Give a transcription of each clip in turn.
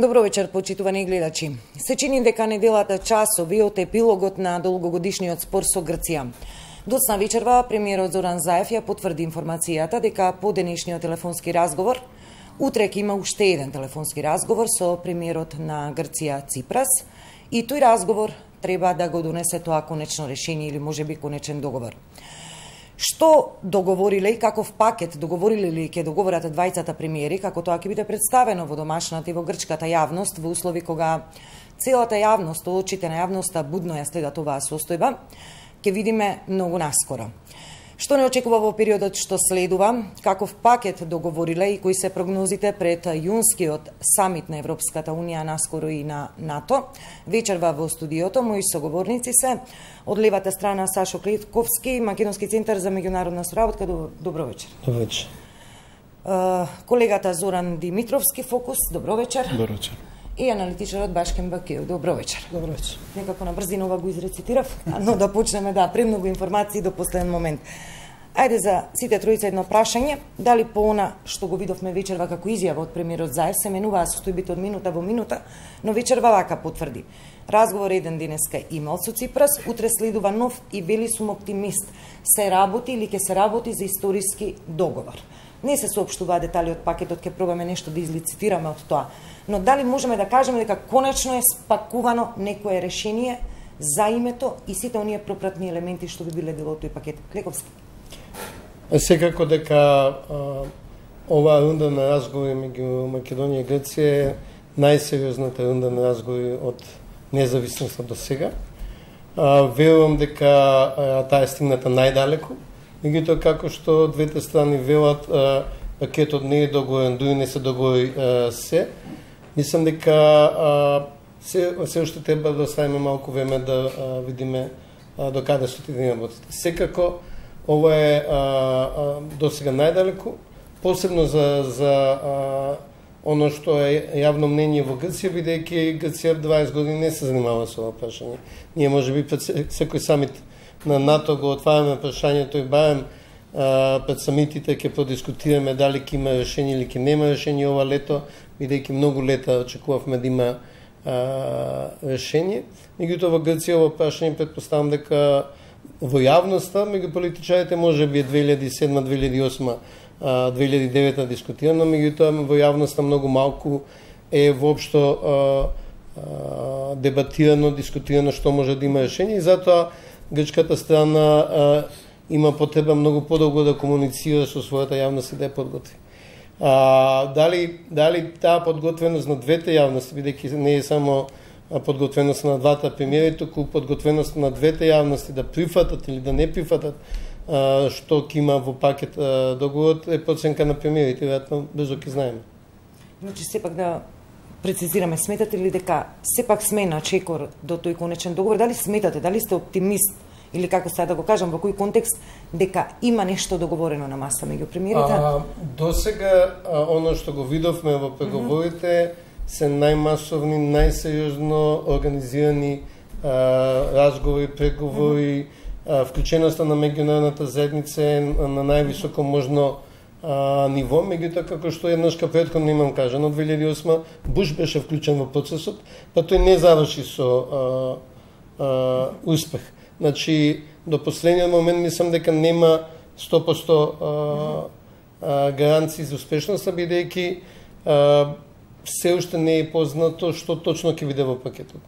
Добро вечер, почитувани гледачи. Се чини дека неделата часови од епилогот на долгогодишниот спор со Грција. Доцна вечерва, премиерот Зоран Заев ја потврди информацијата дека по денешниот телефонски разговор, утре ќе има уште еден телефонски разговор со премиерот на Грција Ципрас и тој разговор треба да го донесе тоа конечно решение или можеби конечен договор. Што договориле и каков пакет договориле ли ќе договорат двајцата премиери, како тоа ќе биде представено во домашната и во грчката јавност во услови кога целата јавност, очите на јавноста будно ја следат оваа состојба, ќе видиме многу наскоро. Што не очекува во периодот што следува, каков пакет договориле и кои се прогнозите пред јунскиот самит на Европската Унија, наскоро и на НАТО. Вечерва во студиото мои соговорници се од левата страна Сашо Клетковски, Македонски центар за меѓународна соработка. Добро вечер. Добро вечер. Колегата Зоран Димитровски, Фокус. Добро вечер. Добро вечер. И аналитичарот Башкен Бакиев. Добро вечер. Добро вечер. Некако на брзина ова го изрецитирав, но да почнеме премногу информации до последен момент. Ајде за сите тројца едно прашање, дали по она што го видовме вечерва како изјава од премиерот Заев се менуваа состојбите од минута во минута, но вечерва вака потврди. Разговор еден денеска имал со Ципрас, утре следува нов и вели сум оптимист. Се работи или ќе се работи за историски договор. Не се соопштуваа детали од пакетот, ќе пробаме нешто да излицитираме од тоа. Но дали можеме да кажеме дека конечно е спакувано некое решение за името и сите оние пропратни елементи што би биле дел од тој пакет? Клековски. Секако дека оваа рунда на разговори меѓу Македонија и Грција е најсериозната рунда на разговори од независноста до сега. Верувам дека таа е стигната најдалеку. Меѓутоа, како што двете страни велат, пакетот не е договорен, дури не се договори се. Мислам дека се уште треба да оставиме малку време да видиме до каде што отидеме работите. Секако, ова е до сега најдалеку, посебно за оно што е јавно мнение во Грција, бидејќи Грција 20 години не се занимава со ова прашање. Ние можеби пред секој самит на НАТО го отвараме прашањето и барем пред самитите ќе продискутираме дали ќе има решение или ќе нема решение ова лето, бидејќи многу лета очекувавме да има решение. Меѓутоа во Грција ова прашање претпоставам дека во јавноста, меѓу политичарите можеби е 2007, 2008, 2009 дискутирано, меѓутоа во јавноста многу малку е воопшто дебатирано, дискутирано што може да има решение и затоа грчката страна има потреба многу подолго да комуницира со својата јавност и да ја подготви. Дали таа подготвеност на двете јавности, бидејќи не е само подготвеност на двата премиери, туку подготвеност на двете јавности да прифатат или да не прифатат што ќе има во пакет договорот е проценка на премиерите, веројатно брзо ќе знаеме. Значи сепак да прецизираме, сметате ли дека сепак сме на чекор до тој конечен договор? Дали сметате, дали сте оптимист или како сега да го кажам, во кој контекст дека има нешто договорено на маса меѓу премиерите? До сега оно што го видовме во преговорите се најмасовни, најсериозно организирани разговори, преговори, вклученоста на меѓународната заедница на највисоко можно ниво, меѓутоа како што еднашка претходно имам кажано, 2008 Буш беше вклучен во процесот, па тој не заврши со успех. Значи, до последниот момент мислам дека нема 100% гаранции за успешноста, бидејќи се уште не е познато што точно ќе биде во пакетот.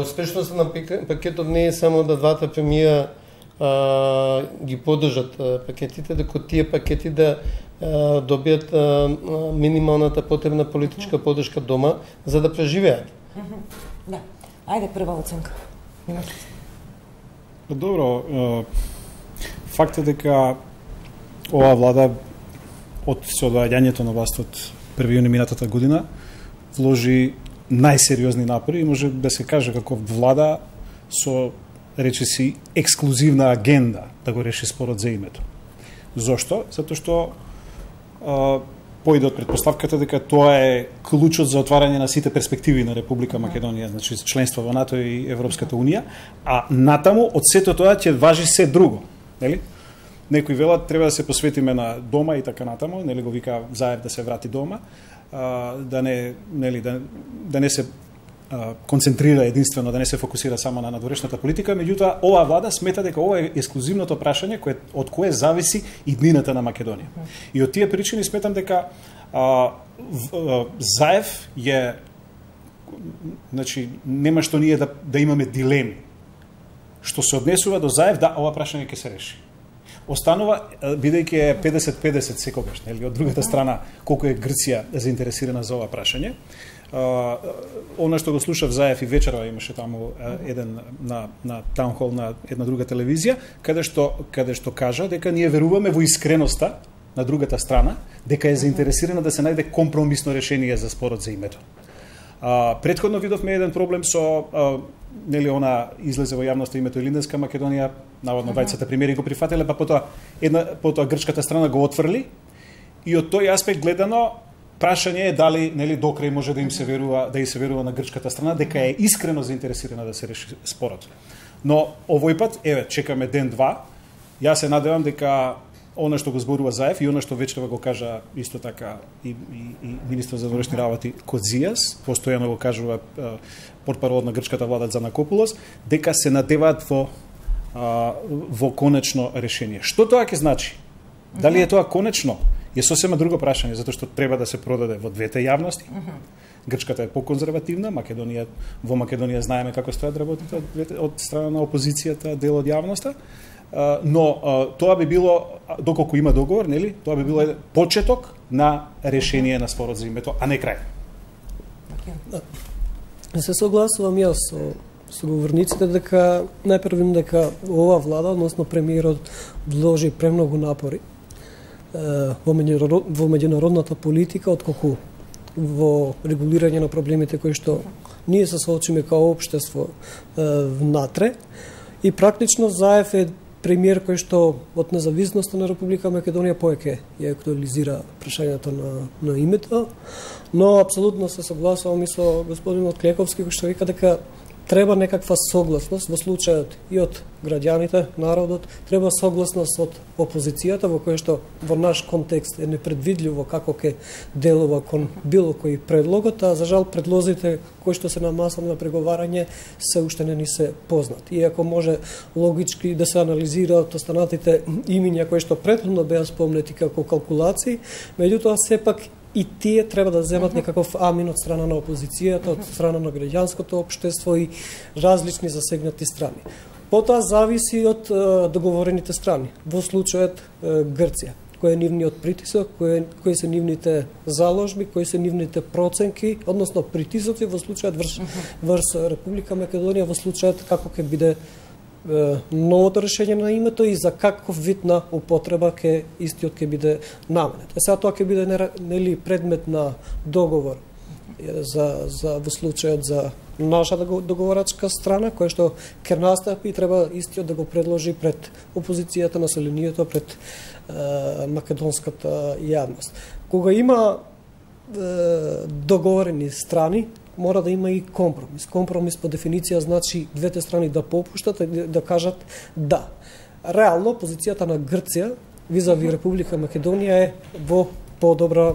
Успешноста на пакетот не е само да двата премиера ги поддржат пакетите, дека тие пакети да добијат минималната потребна политичка поддршка дома за да преживеат. Да. Ајде прва оценка. Добро, факт е дека оваа влада од соодваѓањето на власт од 1 јуни минатата година вложи најсериозни напори и може да се каже како влада со речиси ексклузивна агенда да го реши спорот за името. Зошто? Затоа што поиде од претпоставката дека тоа е клучот за отварање на сите перспективи на Република Македонија, значи членство во НАТО и Европската Унија, а натаму од сето тоа ќе важи се друго, нели? Некои велат треба да се посветиме на дома и така натаму, нели го вика Заев да се врати дома. да не се концентрира единствено, да не се фокусира само на надворешната политика, меѓутоа оваа влада смета дека ова е ексклузивното прашање од кое зависи иднината на Македонија. И од тие причини сметам дека Заев е, значи, нема што ние да имаме дилеми. Што се однесува до Заев, да, ова прашање ќе се реши. Останува, бидејќи е 50-50 секогаш, нели, од другата страна, колку е Грција заинтересирана за ова прашање. Она што го слушав Заев и вечерва имаше таму еден на таунхол на една друга телевизија, каде што кажа дека ние веруваме во искреноста на другата страна, дека е заинтересирана да се најде компромисно решение за спорот за името. Претходно видовме еден проблем со нели она излезе во јавноста името Илинденска Македонија, наводно двајцата премиери го прифателе, па потоа грчката страна го отфрли и од тој аспект гледано прашање е дали нели докрај може да се верува на грчката страна дека е искрено заинтересирана да се реши спорот. Но овој пат чекаме ден-два. Јас се надевам дека она што го зборува Заев и она што вечерва го кажа исто така и министр за външни работи Кодзијас, постојано го кажува портпарол на грчката влада Занакопулос, дека се надеваат во конечно решение. Што тоа ќе значи? Дали е тоа конечно? Е сосема друго прашање, затоа што треба да се продаде во двете јавности. Грчката е поконзервативна, во Македонија знаеме како стојат работите од страна на опозицијата, дел од јавноста. Но тоа би било, доколку има договор, нели, тоа би било почеток на решение на спорот за името, а не крај. Се согласувам јас со говорниците дека најпрво дека ова влада, односно премиерот, вложи премногу напори во меѓународната политика, отколку во регулирање на проблемите кои што ние се соочиме као општество внатре. И практично Заев е премиер кој што од независноста на Република Македонија повеќе ја актуализира прашањето на името, но апсолутно се согласувам и со господинот Клековски кој што вика дека треба некаква согласност во случајот и од граѓаните, народот, треба согласност од опозицијата во која што во наш контекст е непредвидливо како ќе делува кон било кој предлогот, а за жал предлозите кои што се на маса на преговарање се уште не ни се познати. Иако може логички да се анализираат останатите имиња кои што претходно беа спомнети како калкулации, меѓутоа сепак и тие треба да земат некаков амин од страна на опозицијата, од страна на граѓанското општество и различни засегнати страни. Потоа зависи од договорените страни. Во случајот Грција, кој е нивниот притисок, кои се нивните заложби, кои се нивните проценки, односно притисоци во случајот врз Република Македонија, во случајот како ќе биде новото решение на името и за каков вид на употреба истиот ќе биде наменет. Сега тоа ќе биде нели предмет на договор во случајот за нашата договорачка страна, која што ќе настапи и треба истиот да го предложи пред опозицијата, населението, пред македонската јавност. Кога има договорени страни, мора да има и компромис. Компромис по дефиниција значи двете страни да попуштат и да кажат да. Реално, позицијата на Грција визави Република Македонија е во подобра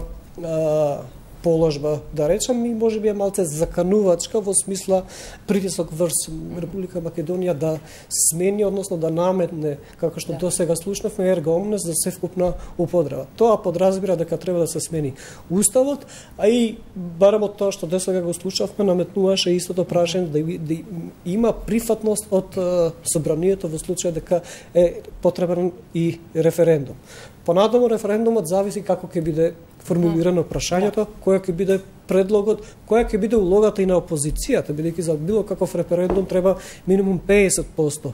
положба, да речем, и може би е малце заканувачка во смисла притисок врз Република Македонија да смени, односно да наметне, како што до сега слушнавме, ерга омнес за севкупна употреба. Тоа подразбира дека треба да се смени уставот, а и барем од тоа што до сега го слушавме, наметнуваше истото прашање да има прифатност од собранието во случај дека е потребен и референдум. Понатаму референдумот зависи како ќе биде формулирано прашањето, која ќе биде предлогот, која ќе биде улогата и на опозицијата, бидејќи за било каков референдум треба минимум 50%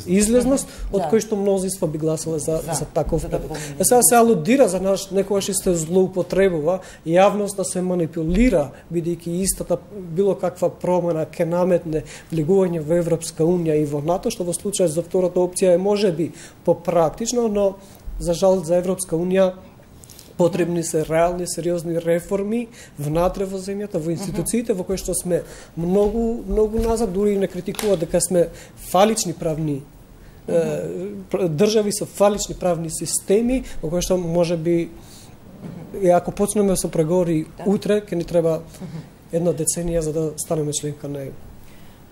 излезност, од кој што мнозинство би гласале за таков предлог. Сега се алудира за некогаш и се злоупотребува јавност да се манипулира, бидејќи истата било каква промена ќе наметне влегување во Европска унија и во НАТО, што во случај за втората опција е можеби попрактично, но за жал за Европска унија потребни се реални, сериозни реформи внатре во земјата, во институциите во кои што сме многу назад, дури не критикува дека сме фалични правни држави со фалични правни системи, во кои што можеби И ако почнеме со преговори утре, ќе ни треба една деценија за да станеме членка на ЕУ.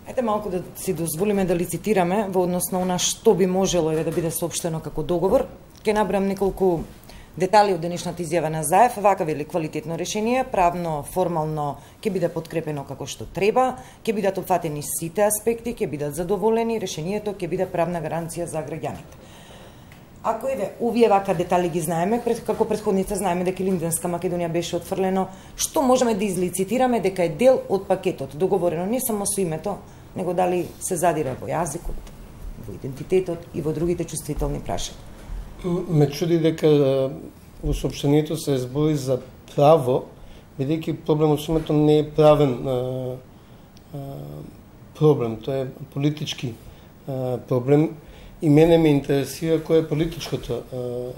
Ајде малку да си дозволиме да лицитираме во однос на она што би можело да биде соопштено како договор. Ќе набрам неколку детали од денешната изјава на Заев. Вака вели: квалитетно решение, правно, формално ќе биде подкрепено како што треба, ќе бидат опфатени сите аспекти, ќе бидат задоволени, решението ќе биде правна гаранција за граѓаните. Ако овие вака детали ги знаеме, како претходница знаеме дека Линденска Македонија беше отфрлено, што можеме да излицитираме дека е дел од пакетот, договорено не само со името, него дали се задира во јазикот, во идентитетот и во другите чувствителни прашања. Ме чуди дека во соопштението се збори за право, бидејќи проблемот со името не е правен проблем, тоа е политички проблем. И мене ме интересира кој е политичкото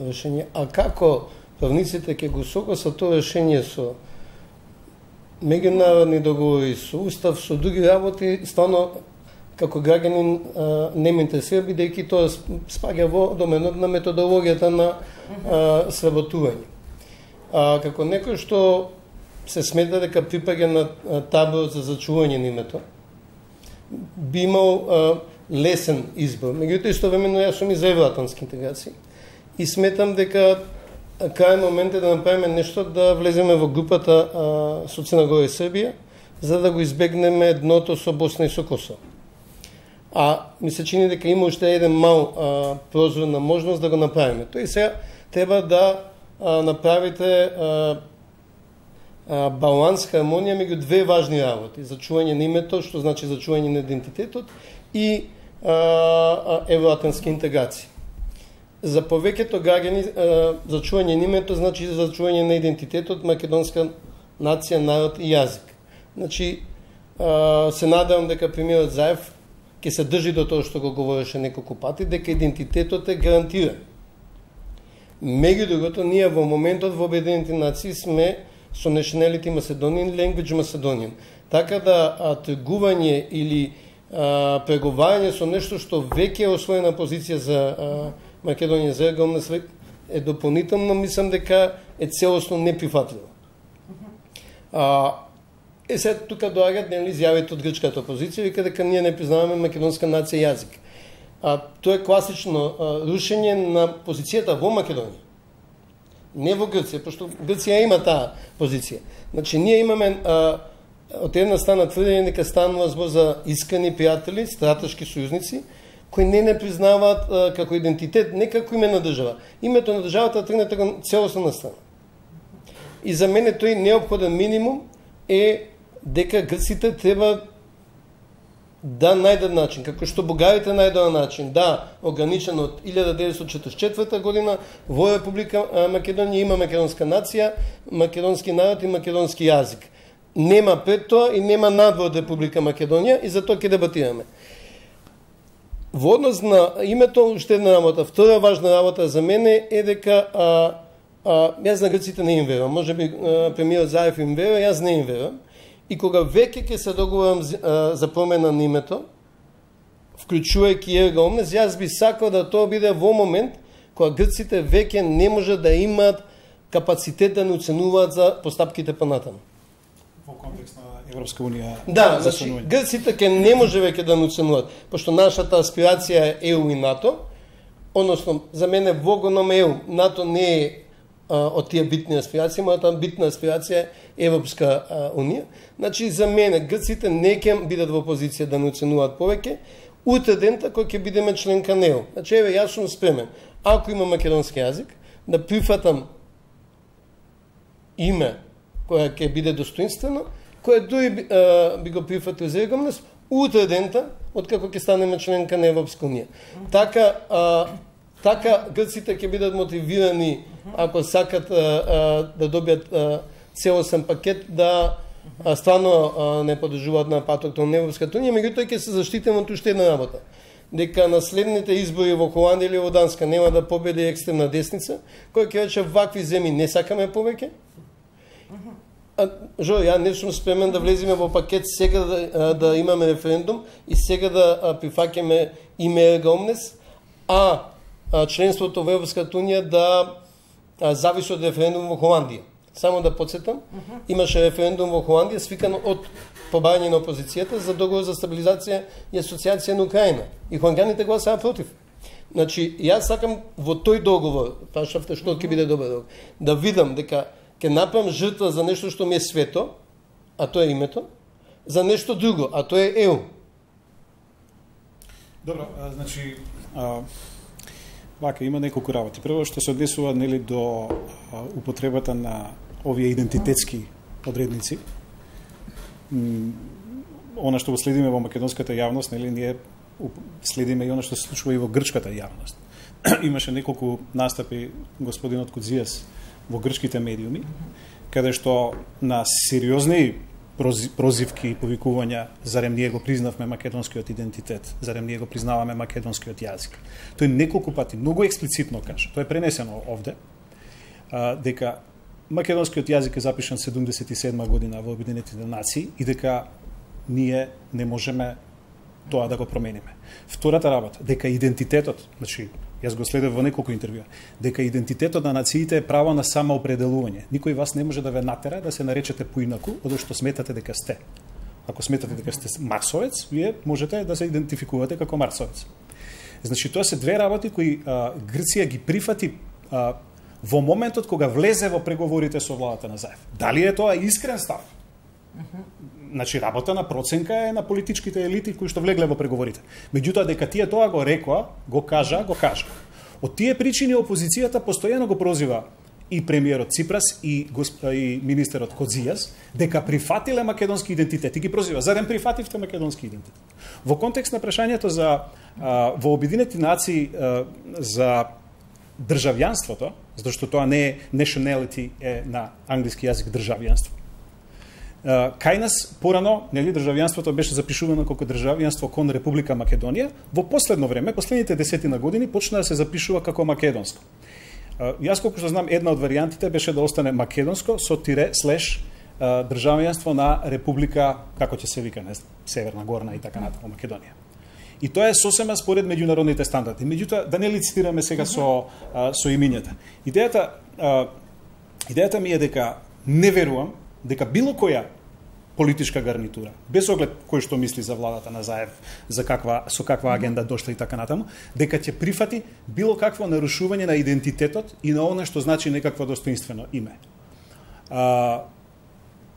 решение, а како правниците ќе го согласат тоа решение со меѓународни договори, со устав, со други работи, стварно како граѓанин не ме интересира, бидејќи тоа спаѓа во доменот на методологијата на сработување. Како некој што се смета дека припаѓа на таборот за зачување на името, би имал лесен избор. Меѓутоа, истовремено јас сум и за евроатлантски интеграции и сметам дека крај момент е да направиме нешто да влеземе во групата со Црна Гора и Србија, за да го избегнеме дното со Босна и со Косово. Ми се чини дека има уште еден мал прозор на можност да го направиме. Тој сега треба да направите баланс, хармонија меѓу две важни работи: зачување на името, што значи зачување на идентитетот, и евроатлантски интеграции. За повеќето граѓани зачување на името значи зачување на идентитетот, македонска нација, народ и јазик. Значи, се надевам дека премиерот Заев ќе се држи до тоа што го говореше неколку пати, дека идентитетот е гарантиран. Меѓу другото, ние во моментот во Обединените нации сме со Nationality Macedonian, Language Macedonian. Така да тргување или преговарање со нешто што веќе е освоена позиција за Македонија за ЕГОМНЕС е дополнително, мислам дека е целосно неприфатливо. Сега тука доаѓаат изјавите од грчката опозиција, вика дека ние не признаваме македонска нација и јазик. Тоа е класично рушење на позицијата во Македонија. Не во Грција, пошто Грција има таа позиција. Значи, ние имаме од една страна тврдење дека станува збор за искрени пријатели, стратешки сојузници, кои не признаваат како идентитет, не како име на држава. Името на државата тргнете го целосно на страна. И за мене тој неопходен минимум е дека грците треба да најдат начин, како што бугарите најдоа начин, да, ограничен од 1944 година во Република Македонија има македонска нација, македонски народ и македонски јазик. Нема пред тоа и нема надвор од Република Македонија и за тоа ќе дебатираме. Во однос на името, уште една работа, втора важна работа за мене е дека јас на грците не им верувам, може би премиерот Заев им верува, јас не им верувам. И кога веќе ќе се договорам за промена на името, вклучувајќи ЕГОМНЕС, јас би сакал да тоа биде во момент кога грците веќе не може да имаат капацитет да не оценуваат за постапките понатаму. Во контекст на Европска унија. Да, значи грците ќе не може веќе да не оценуваат, пошто нашата аспирација е ЕУ и НАТО, односно за мене во гоном ЕУ, НАТО не е од тие битни аспирации, мојата битна аспирација е Европска унија. Значи, за мене, грците не ќе бидат во позиција да не оценуваат повеќе, утре дента кој ќе бидеме членка на ЕУ. Значи, еве, јас сум спремен, ако има македонски јазик, да прифатам име која ќе биде достоинствено, која дури би го прифатил за ЕГОМНЕС, утре дента, откако ќе станеме членка на Европска унија. Така грците ќе бидат мотивирани, ако сакат да добијат целосен пакет, да стварно не подржуваат на патот на Европската унија, меѓутоа ќе се заштитим од уште една работа. Дека на следните избори во Холандија или во Данска нема да победи екстремна десница, која ќе рече вакви земји не сакаме повеќе. Ја не сум спремен да влеземе во пакет сега да имаме референдум и сега да прифаќаме име ЕГОМНЕС, членството во Европската унија да зависи од референдум во Холандија. Само да подсетам, имаше референдум во Холандија свикан од побарање на опозицијата за договор за стабилизација и асоциација на Украина. И холанѓаните гласаа против. Значи, јас сакам во тој договор, прашавте што ќе биде добар договор, да видам дека ќе направам жртва за нешто што ми е свето, а тоа е името, за нешто друго, а тоа е ЕУ. Добро, значи, вака има неколку работи. Прво што се однесува нели до употребата на овие идентитетски одредници. Она што го следиме во македонската јавност, нели ние следиме и она што се случува и во грчката јавност. Имаше неколку настапи господинот Кудзијас во грчките медиуми, каде што на сериозни прозивки и повикувања зарем ние го признавме македонскиот идентитет, зарем ние го признаваме македонскиот јазик. Тој неколку пати многу експлицитно кажа, тоа е пренесено овде, дека македонскиот јазик е запишан 77 година во Обединетите нации и дека ние не можеме тоа да го промениме. Втората работа, дека идентитетот, значи јас го следев во неколку интервјуа, дека идентитетот на нациите е право на самоопределување. Никој вас не може да ве натера да се наречете поинаку од што сметате дека сте. Ако сметате дека сте марсовец, вие можете да се идентификувате како марсовец. Значи тоа се две работи кои Грција ги прифати во моментот кога влезе во преговорите со владата на Заев. Дали е тоа искрен став? Значи, работа на проценка е на политичките елити кои што влегле во преговорите. Меѓутоа, дека тие тоа го рекоа, го кажа. Од тие причини опозицијата постојано го прозива и премиерот Ципрас и министерот Кодзијас дека прифатиле македонски идентитет и ги прозива. Зарем прифативте македонски идентитет? Во контекст на прашањето за во Обединети нации за државјанството, затоа што тоа не е nationality, е на англиски јазик државјанство. Кај нас порано, нели, државјанството беше запишувано како државјанство кон Република Македонија, во последно време, последните 10 години почна да се запишува како македонско. Јас колку што знам, една од варијантите беше да остане македонско со тире слеш државјанство на Република, како ќе се вика, не знам, Северна, Горна и така натаму Македонија. И тоа е сосема според меѓународните стандарди. Меѓутоа, да не лицитираме сега со имињата. Идејата ми е дека не верувам дека било која политичка гарнитура, без оглед кој што мисли за владата на Заев, со каква агенда дошла и така натаму, дека ќе прифати било какво нарушување на идентитетот и на она што значи некакво достоинствено име.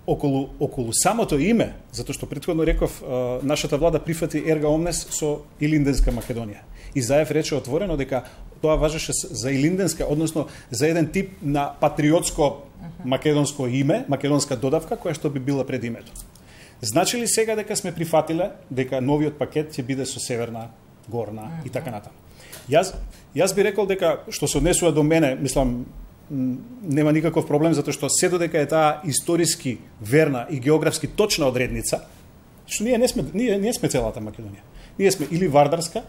Околу самото име, затоа што претходно реков, нашата влада прифати ерга омнес со Илинденска Македонија. И Заев рече отворено дека тоа важеше за Илинденска, односно за еден тип на патриотско македонско име, македонска додавка, која што би била пред името. Значи ли сега дека сме прифатиле дека новиот пакет ќе биде со Северна, Горна и така натаму? Јас би рекол дека, што се однесува до мене, мислам, нема никаков проблем, затоа што се додека е таа историски верна и географски точна одредница, што ние не сме целата Македонија. Ние сме или Вардарска,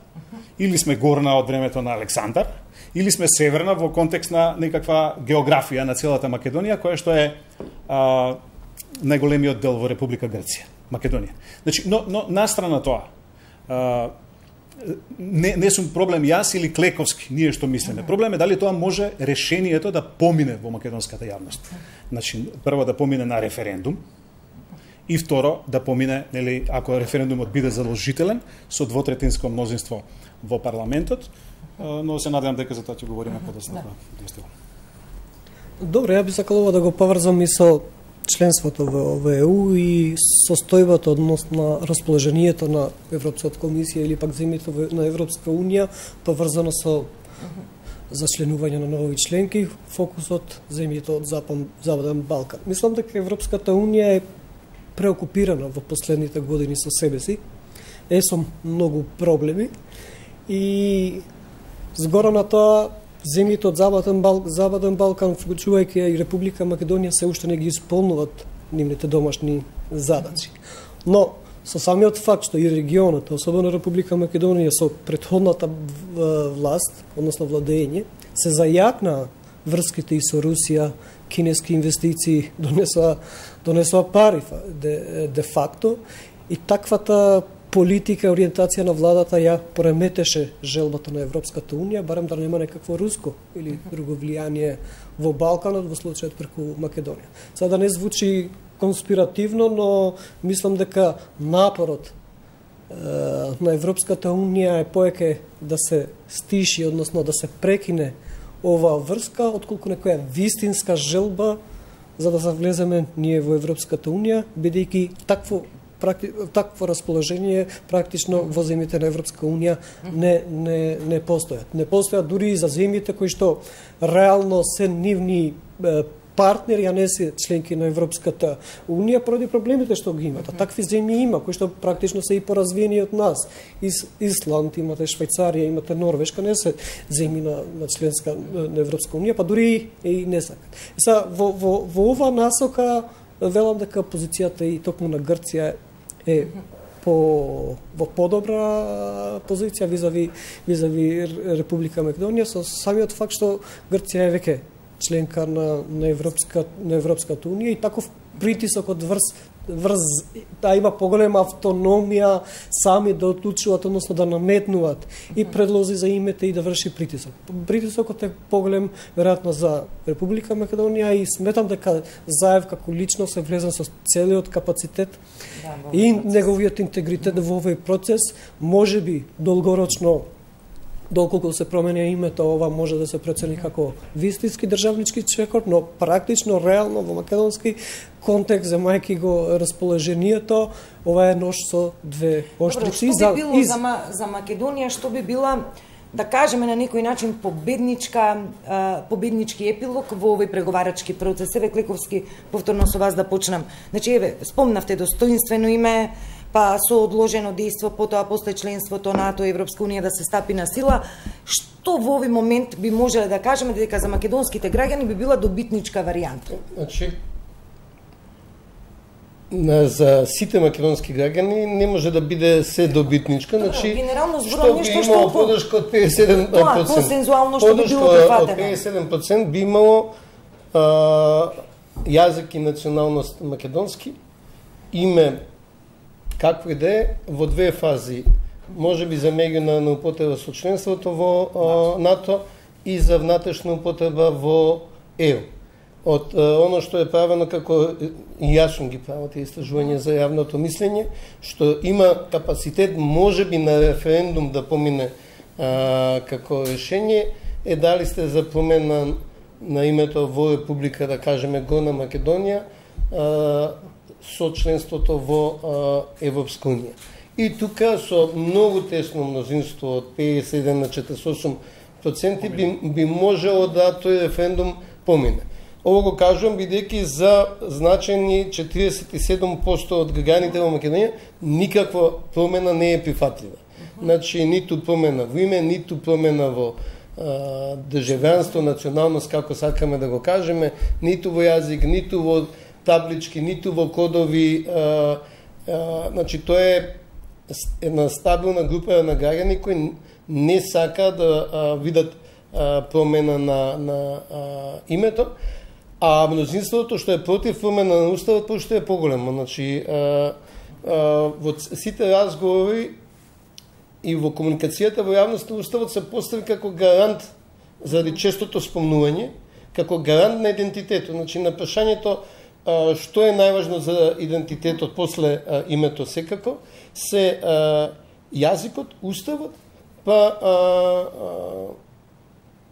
или сме Горна од времето на Александар, или сме Северна во контекст на некаква географија на целата Македонија, која што е најголемиот дел во Република Грција, Македонија. Значи, но настрана тоа, не сум проблем јас или Клековски, ние што мислиме. Проблем е дали тоа може решението да помине во македонската јавност. Значи, прво да помине на референдум, и второ, да помине, нели, ако референдумот биде задолжителен, со двотретинско мнозинство во парламентот, но се надевам дека за тоа ќе говориме подоцна. Добре, ја би сакала да го поврзам и со членството во ЕУ и состојбата односно расположението на Европската комисија или пак земјите на Европска унија поврзано со за членување на нови членки, фокусот земјите од Западен Балкан. Мислам дека Европската унија е преокупирана во последните години со себе си, со многу проблеми и згора на тоа земјите од Западен Балкан, вклучувајќи и Република Македонија, се уште не ги исполнуваат нивните домашни задачи. Но со самиот факт што и регионот, особено Република Македонија со претходната власт, односно владење, се зајакна врските и со Русија, кинески инвестиции донесоа пари де факто и таквата политика и ориентација на владата ја преметеше желбата на Европската унија, барем да нема некакво руско или друго влијание во Балканот, во случајот преку Македонија. Сега да не звучи конспиративно, но мислам дека напорот на Европската унија е поеќе да се стиши, односно да се прекине оваа врска, отколку некоја вистинска желба за да завлеземе ние во Европската унија, бидејќи такво расположение практично во земјите на Европска унија не постојат. Не постојат дури и за земјите кои што реално се нивни партнери, а не се членки на Европската унија, поради проблемите што ги имат. А такви земји има, кои што практично се и поразвиени од нас. Исланд, имате Швајцарија, имате Норвешка, не се земји на членска на Европска унија, па дури и не сакат. Сега, во ова насока, велам дека позицијата и токму на Грција е во подобра позиција визави Република Македонија, со самиот факт што Грција е веќе членка на Европската унија и таков притисок од да има поголема автономија сами да одлучуваат, односно да наметнуваат и предлози за името и да врши притисок. Притисокот е поголем веројатно за Република Македонија и сметам дека Заев како лично се влезен со целиот капацитет и неговиот интегритет во овој процес, можеби долгорочно, доколку се промени името, ова може да се процени како вистински државнички чекор, но практично, реално, во македонски контекст, земајќи го расположението, ова е нож со двеоштрици. Што би било за Македонија, што би била, да кажеме на некој начин, победнички епилог во овој преговарачки процес? Еве, Клековски, повторно со вас да почнам. Значи, еве, спомнавте достоинствено име, па со одложено дејство, потоа после членството НАТО и Европска унија да се стапи на сила. Што во овој момент би можеле да кажеме дека за македонските граѓани би била добитничка варијанта? Значи, за сите македонски граѓани не може да биде се добитничка, значи генерално што би имало подршка од 57%. Тоа консензуално што би било прифатено. 57% би имало јазик и националност македонски, име какво и да е, во две фази. Може би за меѓунаrodna употреба со членството во НАТО и за внатрешна употреба во ЕУ. Од оно што е правено, како и јасно ги прават тие истражувања за јавното мислење, што има капацитет може би на референдум да помине како решение, е дали сте за промена на името во Република, да кажеме, Горна Македонија, со членството во Европска унија. И тука со многу тесно мнозинство од 51 на 48% би можело да тој референдум помине. Ово го кажувам бидејќи за значени 47% од граѓаните во Македонија никаква промена не е прифатлива. Значи, ниту промена во име, ниту промена во државјанство, националност, како сакаме да го кажеме, ниту во јазик, ниту во таблички, ниту во кодови. Значи, тоа е една стабилна група на граѓани кои не сака да видат промена на името, а мнозинството што е против промена на уставот пошто е поголемо. Значи, во сите разговори и во комуникацијата во јавноста уставот се постави како гарант заради честото спомнување, како гарант на идентитетот. Значи, на прашањето што е најважно за идентитетот после името секако, се јазикот, уставот, па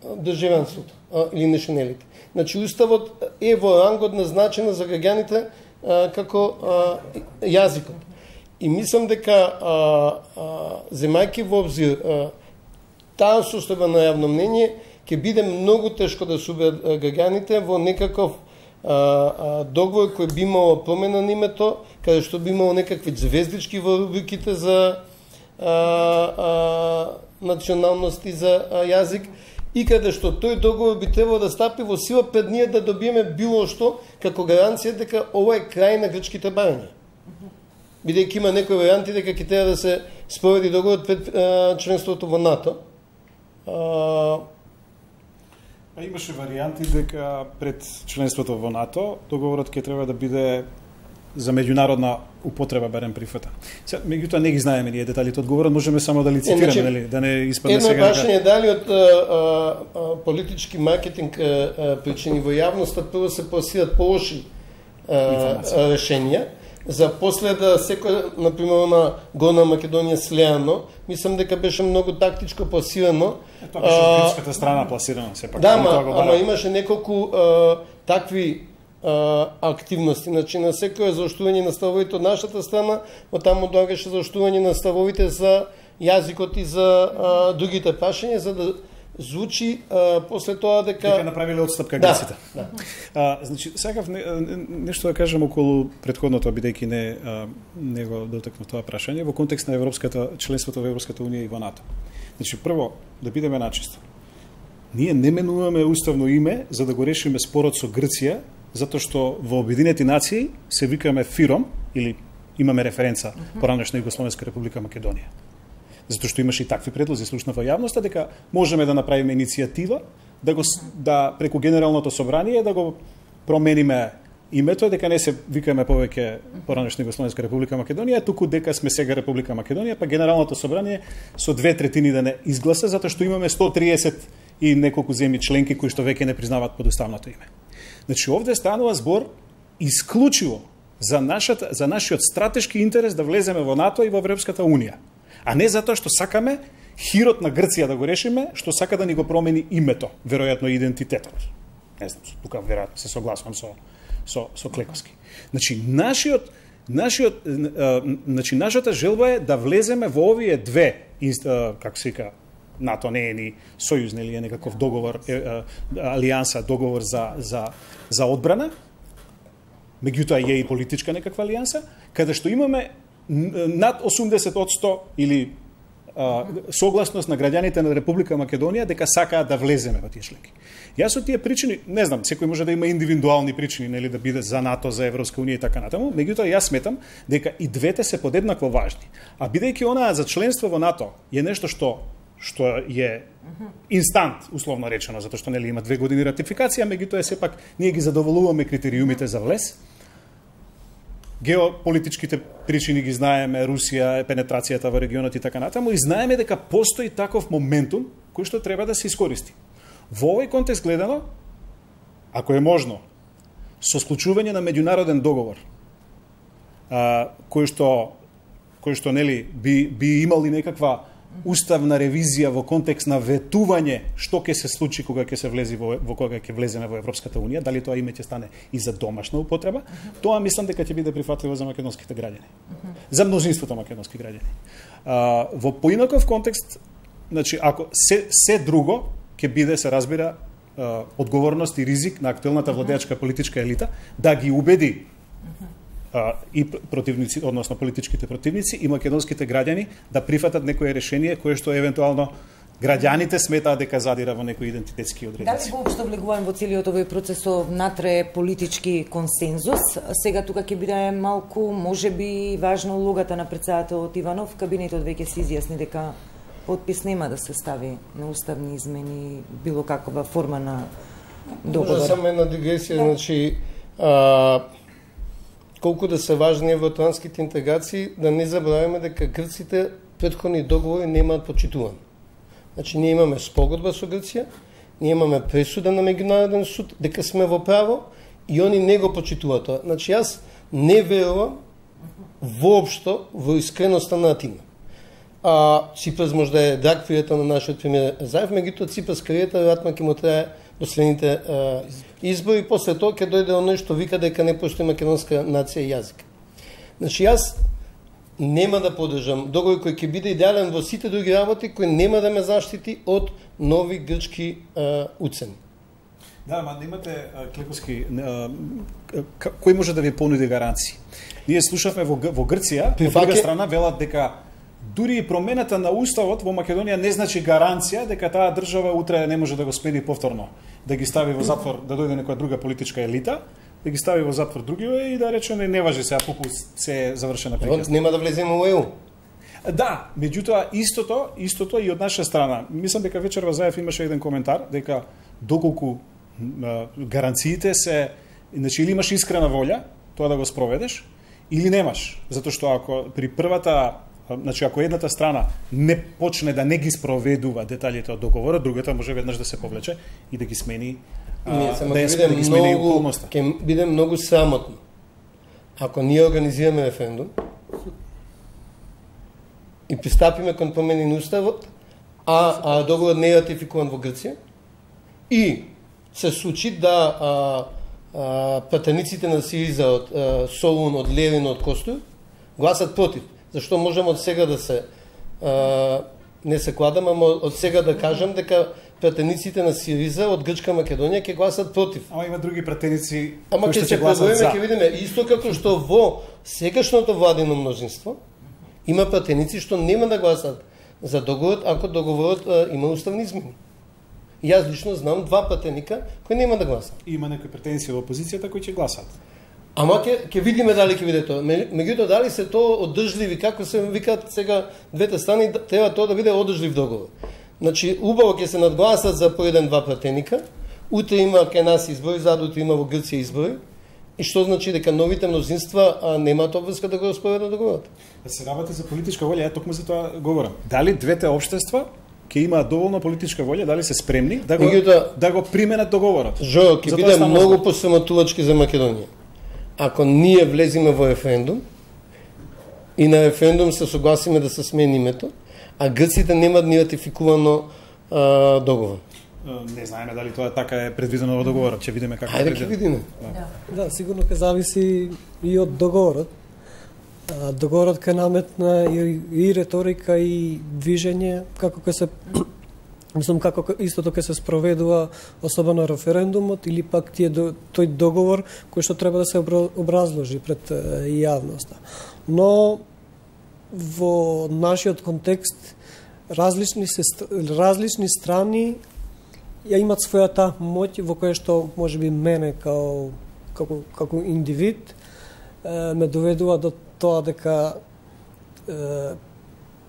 државјанството или националите. Значи, уставот е во рангот назначена за граѓаните како јазикот. И мислам дека земајќи во обзир таа состојба на јавно мнение, ќе биде многу тешко да се убедат граѓаните во некаков договор кој би имало промена на името, каде што би имало некакви звездички во рубриките за националност и за јазик, и каде што тој договор би требало да стапи во сила пред ние да добиеме било што како гаранција дека ова е крај на грчките барања. Бидејќи има некои варијанти дека ќе треба да се спроведи договорот пред членството во НАТО. Имаше варијанти дека пред членството во НАТО договорот ќе треба да биде за меѓународна употреба барем прифата. Сега меѓутоа не ги знаеме ние деталите одговорот, можеме само да лицитираме, нели, да не испадне сега. Едно прашање дали од политички маркетинг причини во јавноста прво се пласираат полоши решенија, за после да секој, например, на Горна Македонија Слеано, мислам дека беше многу тактичко пласирано. Тоа беше од грчката страна пласирано, сепак. Да, ама имаше неколку такви активности. Значи, на секој заоштување на ставовите од нашата страна, оттаму доаѓаше заоштување на ставовите за јазикот и за другите прашања, за да звучи после тоа дека направиле отстапка грците. Да. Значи, сакав нешто да кажам околу претходното, бидејќи не го дотекнав тоа прашање во контекст на членството во Европската унија и во НАТО. Значи, прво да бидеме начисто. Ние не менуваме уставно име за да го решиме спорот со Грција, затоа што во Обединети нации се викаме ФИРОМ или имаме референца поранешна Југословенска република Македонија. Затоа што имаше и такви предлози слушна во јавноста дека можеме да направиме иницијатива да преку Генералното собрание да го промениме името, дека не се викаме повеќе поранешна Југословенска република Македонија, туку дека сме сега Република Македонија, па Генералното собрание со 2/3 да не изгласа, затоа што имаме 130 и неколку земји членки кои што веќе не признаваат подуставното име. Значи, овде станува збор исклучиво за нашиот стратешки интерес да влеземе во НАТО и во Европската унија, а не затоа што сакаме хирот на Грција да го решиме, што сака да ни го промени името, веројатно идентитетот. Не знам, тука веројатно се согласувам со Клековски. Значи, нашата желба е да влеземе во овие две, како се вика, НАТО не е ни сојуз, нели е некаков договор, алијанса, договор за одбрана, меѓутоа е и политичка некаква алијанса, каде што имаме над 80% или согласност на граѓаните на Република Македонија дека сакаат да влеземе во тие членки. Јас од тие причини, не знам, секој може да има индивидуални причини, нели, да биде за НАТО, за Европска унија и така натаму, меѓутоа јас сметам дека и двете се подеднакво важни. А бидејќи онаа за членство во НАТО е нешто што е инстант, условно речено, затоа што нели има 2 години ратификација, меѓутоа сепак ние ги задоволуваме критериумите за влез. Геополитичките причини ги знаеме, Русија, пенетрацијата во регионот и така натаму, и знаеме дека постои таков моментум кој што треба да се искористи. Во овој контекст гледано, ако е можно, со склучување на меѓународен договор, кој што нели би имал и некаква уставна ревизија во контекст на ветување што ќе се случи кога ќе се влези кога ќе влеземе во Европската унија, дали тоа име ќе стане и за домашна употреба, тоа мислам дека ќе биде прифатливо за македонските граѓани. За мнозинството македонски граѓани. Во поинаков контекст, значи ако се друго ќе биде, се разбира, одговорност и ризик на актуелната владеачка политичка елита да ги убеди и противници, односно политичките противници и македонските граѓани да прифатат некое решение кое што евентуално граѓаните сметаат дека задира во некои идентитетски одредници. Дали воопшто влегуваме во целиот овој процес внатре политички консензус? Сега тука ќе биде малку, можеби, важна улогата на претседателот Иванов. Кабинетот веќе се изјасни дека подпис нема да се стави на уставни измени, било каква форма на договор. Може само една дигресија, значи колку да се важни евроатлантските интеграции, да не забравяме дека грците претходни договори немаат почитуван. Значи, ние имаме спогодба со Грција, ние имаме пресуда на меѓународен суд, дека сме во право и они не го почитуваат тоа. Значи, јас не верувам воопшто во искреноста на Атина. Ципрас може да е драг пријател на нашиот премиер Заев, меѓутоа Ципрас кариерата веројатно ќе му трае до следните избори, после тоа ќе дојде оној што вика дека не постои македонска нација и јазик. Значи, јас нема да поддржам договор кој ќе биде идеален во сите други работи, кој нема да ме заштити од нови грчки уцени. Да, ама немате, Клековски, кој може да ви понуди гаранции? Ние слушавме во Грција, од друга страна велат дека дури и промената на уставот во Македонија не значи гаранција дека таа држава утре не може да го смени повторно, да ги стави во затвор, да дојде некоја друга политичка елита, да ги стави во затвор другиве и да рече не важи сега пупу се завршена приказна. Нема да влеземе во ЕУ. Да, меѓутоа истото и од наша страна. Мислам дека вечерва Заев имаше еден коментар дека доколку гаранциите се, значи или имаш искрена волја тоа да го спроведеш, или немаш, затоа што ако при првата, значи ако едната страна не почне да не ги спроведува деталите од договорот, другата може веднаш да се повлече и да ги смени, да ги смени околноста. Ќе биде многу срамотно ако ние организираме референдум и пристапиме кон промени на уставот, а договорот не е ратификуван во Грција и се случи да пратениците на СИРИЗА од Солун, од Левин, од Костур гласат против. Зашто можам од сега да се не се кладам, ама од сега да кажам дека пратениците на СИРИЗА од Грчка Македонија ќе гласат против. Ама има други пратеници кои што ќе гласат за. Ќе видиме исто како што во сегашното владино мнозинство има пратеници што нема да гласат за договорот ако договорот има уставни измени. Јас лично знам 2 пратеника кои нема да гласат. Има некои претенции во опозицијата кои ќе гласат. Ама ќе видиме дали ќе биде тоа. Меѓутоа дали се тоа одржливи, како се викаат сега двете страни, треба тоа да биде одржлив договор. Значи убаво ќе се надгласат за по 1-2 пратеника. Утре има кај нас избори, задутре има во Грција избори. И што значи дека новите мнозинства немаат обврска да го оспорваат договорот? Да се работи за политичка волја, токму за тоа говорам. Дали двете општества ќе имаат доволно политичка волја, дали се спремни да го применат договорот? Жо, ќе биде многу посрамотувачки за Македонија. Ако ние влеземе во референдум и на референдум се согласиме да се смени името, а грците немаат ни ратификувано договор. Не знаеме дали тоа така е предвидено во договорот, ќе видиме како е. Ајде ќе видиме. Да, сигурно ќе зависи и од договорот. Договорот ќе наметна и реторика и движење како ќе се како истото ќе се спроведува особено референдумот или пак тој договор кој што треба да се образложи пред јавноста. Но во нашиот контекст различни страни ја имат својата моќ во која што можеби мене како индивид ме доведува до тоа дека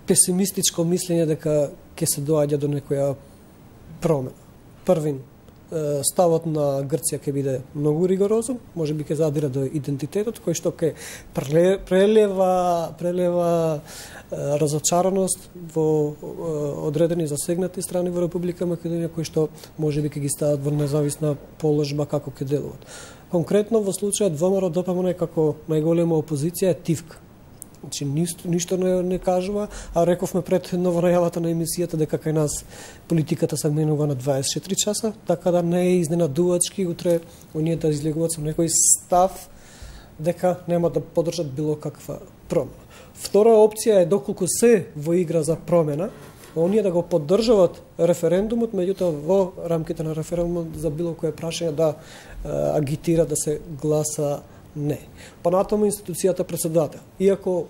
песимистичко мислење дека ќе се доаѓа до некоја промена. Првин, ставот на Грција ќе биде многу ригорозен, можеби ќе задира до идентитетот, кој што ќе прелева разочараност во одредени засегнати страни во Република Македонија, кои што можеби ќе ги стават во независна положба како ќе делуваат. Конкретно во случајот ВМРО ДПМН како најголема опозиција е тивка. Значи, ништо не кажува, а рековме пред новонајавата на емисијата дека кај нас политиката се менува на 24 часа, така да не е изненадувачки утре оние да излегуваат со некој став дека нема да поддржат било каква промена. Втора опција е доколку се во игра за промена, оние да го поддржават референдумот, меѓутоа во рамките на референдумот за било кое прашање да агитира да се гласа не. Понатаму институцијата председател. Иако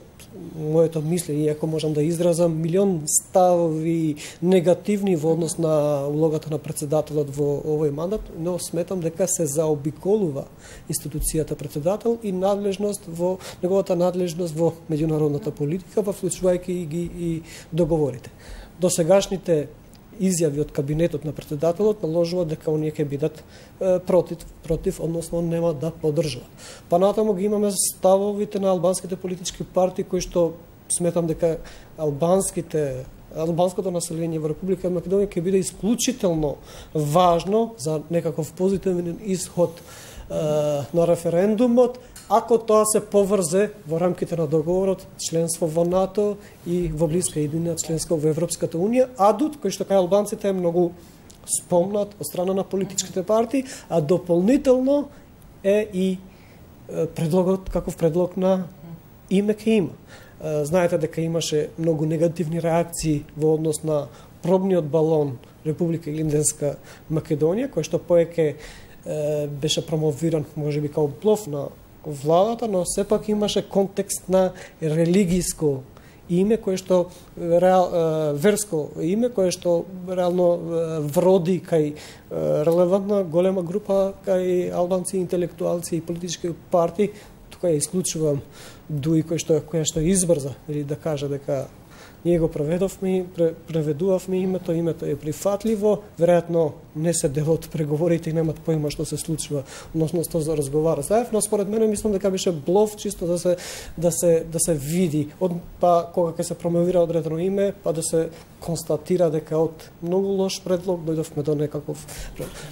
моето мислење, иако можам да изразам милион ставови негативни во однос на улогата на председателот во овој мандат, но сметам дека се заобиколува институцијата председател и неговата надлежност во меѓународната политика, вклучувајќи ги и договорите. Досегашните изјави од кабинетот на председателот наложува дека оние ќе бидат против, односно нема да поддржуваат. Понатаму ги имаме ставовите на албанските политички партии кои што сметам дека албанското население во Република Македонија ќе биде исклучително важно за некаков позитивен исход на референдумот, ако тоа се поврзе во рамките на договорот, членство во НАТО и во блиска иднина членство во Европската Унија, адут кој што кај албанците е многу спомнат од страна на политичките партии, а дополнително е и предлогот, каков предлог на име ќе има. Знаете дека имаше многу негативни реакции во однос на пробниот балон Република Илинденска Македонија, кој што поеќе беше промовиран можеби као блоф на владата, но сепак имаше контекст на религиско име кое што верско име кое што реално вроди кај релевантна голема група кај албанци интелектуалци и политички партии. Тука ја исклучувам Дуи која што избрза или да каже дека ние го преведувавме името е прифатливо, веројатно не се дел од преговорите и немат поима што се случува, односно што за разговара заедно, според мене мислам дека беше блов чисто да се види па кога ќе се промовира одредено име, па да се констатира дека од многу лош предлог дојдовме до некаков.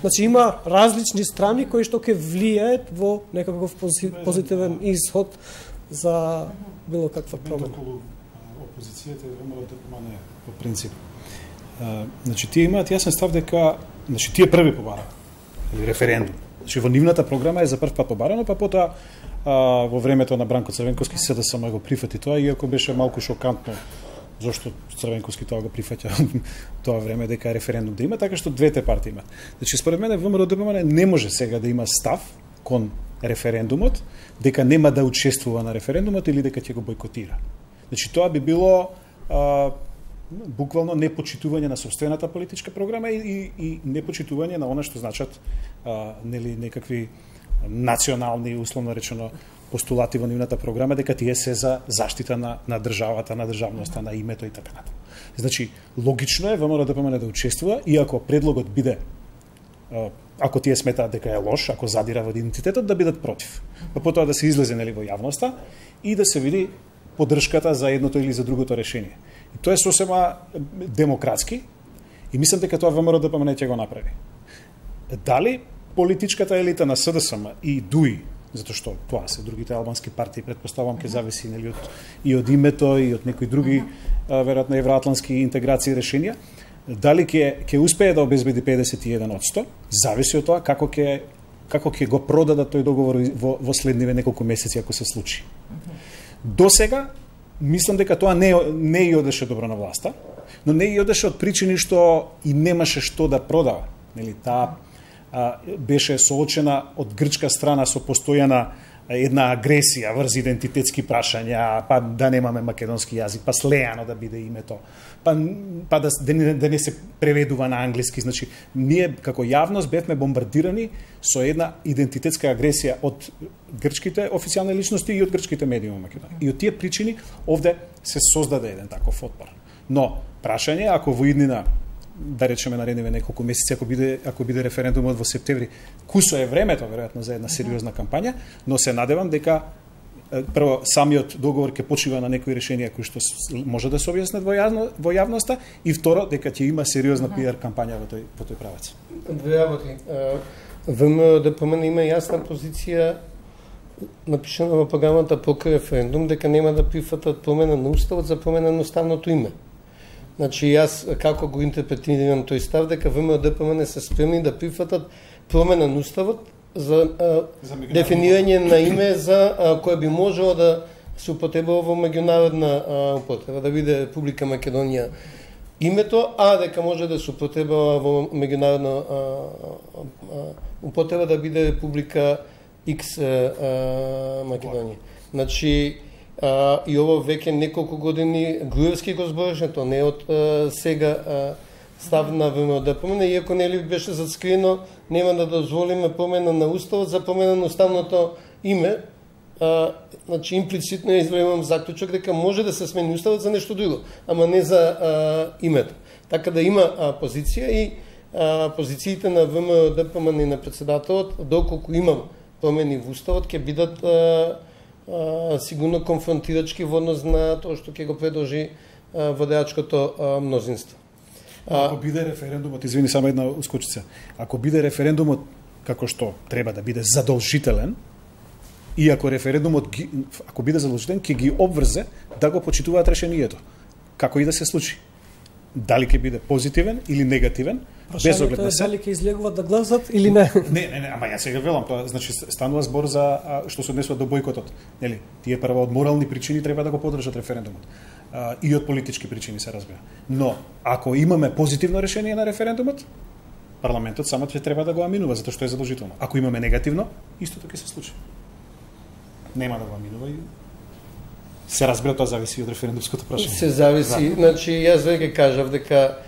Значи има различни страни кои што ќе влијаат во некаков позитивен исход за било каква промена. Опозицијата е ВМРО ДПМНЕ по принцип. Значи тие имаат јасен став дека тие први побара или референдум. Значи во нивната програма е за прв пат побарано, па потоа во времето на Бранко Црвенковски СДСМ го прифати тоа, иако беше малку шокантно зашто Црвенковски тоа го прифаќа тоа време дека референдум да има, така што двете партии имаат. Значи според мене ВМРО ДПМНЕ не може сега да има став кон референдумот, дека нема да учествува на референдумот или дека ќе го бойкотира. Значи тоа би било буквално непочитување на сопствената политичка програма и непочитување на она што значат некакви национални, условно речено, постулати во нивната програма, дека тие се за заштита на државата, на државноста, на името и така натаму. Значи, логично е ВМРО ДПМНЕ да учествува, иако предлогот биде, ако тие сметаат дека е лош, ако задира во идентитетот, да бидат против. Па потоа да се излезе во јавноста и да се види поддршката за едното или за другото решение. И тоа е сосема демократски и мислам дека тоа ВМРО ДПМНЕ ќе го направи. Дали политичката елита на СДСМ и ДУИ, затоа што тоа се другите албански партии, предпоставам ќе зависи и од името и од некои други веројатно евроатлантски интеграции решенија, дали ќе успее да обезбеди 51%, зависи од тоа како ќе го продадат тој договор во следниве неколку месеци ако се случи. До сега мислам дека тоа не и одеше добро на власта, но не и одеше од причини што и немаше што да продава. Нели таа беше соочена од грчка страна со постојана една агресија врз идентитетски прашања, па да немаме македонски јазик, па слеано да биде името, па да не се преведува на англиски. Значи, ние како јавност бевме бомбардирани со една идентитетска агресија од грчките официјални личности и од грчките медии во Македонија. И од тие причини овде се создаде еден таков отпор. Но прашање ако во иднина да речеме наредниве неколку месеци, ако биде референдумот во септември, кусо е времето веројатно за една сериозна кампања, но се надевам дека прво самиот договор ќе почива на некои решенија кои што може да се објаснат во јавноста и второ дека ќе има сериозна пиар кампања во тој правец. Две работи. ВМРО ДПМНЕ има јасна позиција напишана во програмата покрај референдум дека нема да прифатат промена на уставот за промена на уставното име. Значи, јас како го интерпретирам тој став, дека ВМРО ДПМНЕ се спремни да прифатат промена на уставот за дефинирање на име за кое би можело да се употребува во меѓународна употреба, да биде Република Македонија името, а дека може да се употребува во меѓународна употреба да биде Република X Македонија. Значи, и ово веќе неколку години Груевски го збореше, тоа не од сега став на ВМРО ДПМНЕ, иако нели беше зацкриено, нема да дозволиме промена на уставот за промена на уставното име. Значи имплицитно извлемам заклучок дека може да се смени уставот за нешто друго, ама не за името. Така да има позиција и позициите на ВМРО ДПМНЕ и на председателот, доколку има промени во уставот, ќе бидат сигурно конфронтирачки во однос на тоа што ќе го предложи водачкото мнозинство. Ако биде референдумот, извини само една ускочица, ако биде референдумот како што треба да биде задолжителен, и ако референдумот ако биде задолжителен, ќе ги обврзе да го почитуваат решението, како и да се случи. Дали ќе биде позитивен или негативен, без оглед на се. Дали ќе излегуваат да гласат или не? Не, ама јас сега велам, тоа значи станува збор за што се однесува до бојкотот. Нели, тие прво од морални причини треба да го поддржат референдумот. И од политички причини се разбира. Но ако имаме позитивно решение на референдумот, парламентот само ќе треба да го аминува затоа што е задолжително. Ако имаме негативно, истото ќе се случи. Нема да го аминува и се разбира, тоа зависи од референдумското прашање. Се зависи, значи јас веќе кажав дека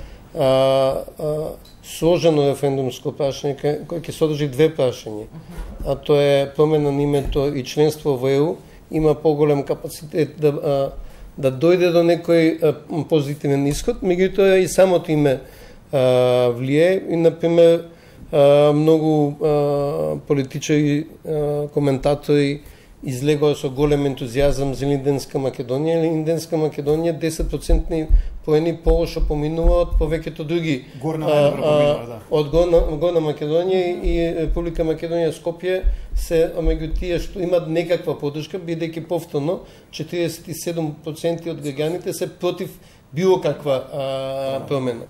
сложено референдумско прашање кој ќе содржи две прашања. А тоа е промена на името и членство во ЕУ, има поголем капацитет да дојде до некој позитивен исход, меѓутоа и самото име влие и, например, многу политичари, коментатори излегоа со голем ентузијазам за Линденска Македонија. Линденска Македонија 10% поени полошо поминува од повеќето други од Горна Македонија и Република Македонија Скопје се меѓу тие што имаат некаква поддршка, бидејќи повторно 47% од граѓаните се против било каква промена.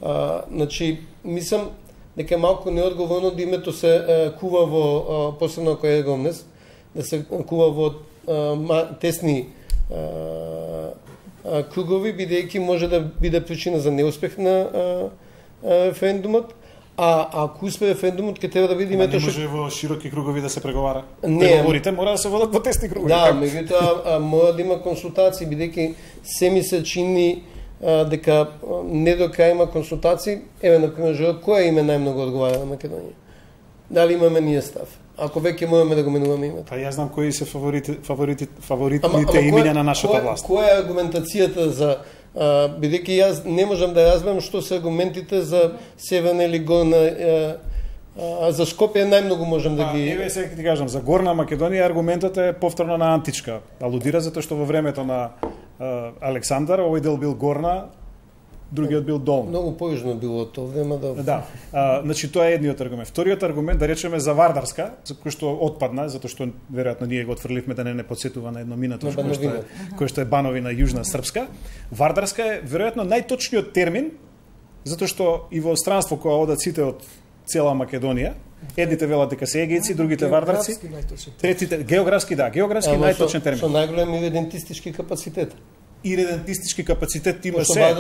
Значи, мислам дека малку неодговорно да името се кува во посебно кој е Гомнес, да се кува во тесни кругови, бидејќи може да биде причина за неуспех на референдумот, а ако успе референдумот, ќе треба да биде името што... Не може во широки кругови да се преговара. Не, преговорите мора да се водат во тесни кругови. Да, меѓутоа мора да има консултации, бидејќи се ми се чини дека не до крај има консултации. Еве, например, која име најмногу одговара на Македонија? Дали имаме ние став? Ако веќе можеме да го менуваме името. Па јас знам кои се фаворитните имиња на нашата власт. Која е аргументацијата за бидејќи јас не можам да разберам што се аргументите за Северна или Горна, за Скопје најмногу можам да ги... Еве сега ти кажам, за Горна Македонија аргументот е повторно на античка. Алудира затоа што во времето на Александар овој дел бил Горна, другиот бил долна. Многу појужно било тоа време да. Да. Значи тоа е едниот аргумент. Вториот аргумент, да речеме за Вардарска, за кој што отпадна, затоа што веројатно ние го отфрлivме да не подсетува на едно минато кој што е Бановина јужна српска. Вардарска е веројатно најточниот термин, затоа што и во странство кога одат сите од цела Македонија, едните велат дека се егејци, другите вардарци, третите географски најточен термин. Со најголем иредентистички капацитет. Иредентистички капацитет има се.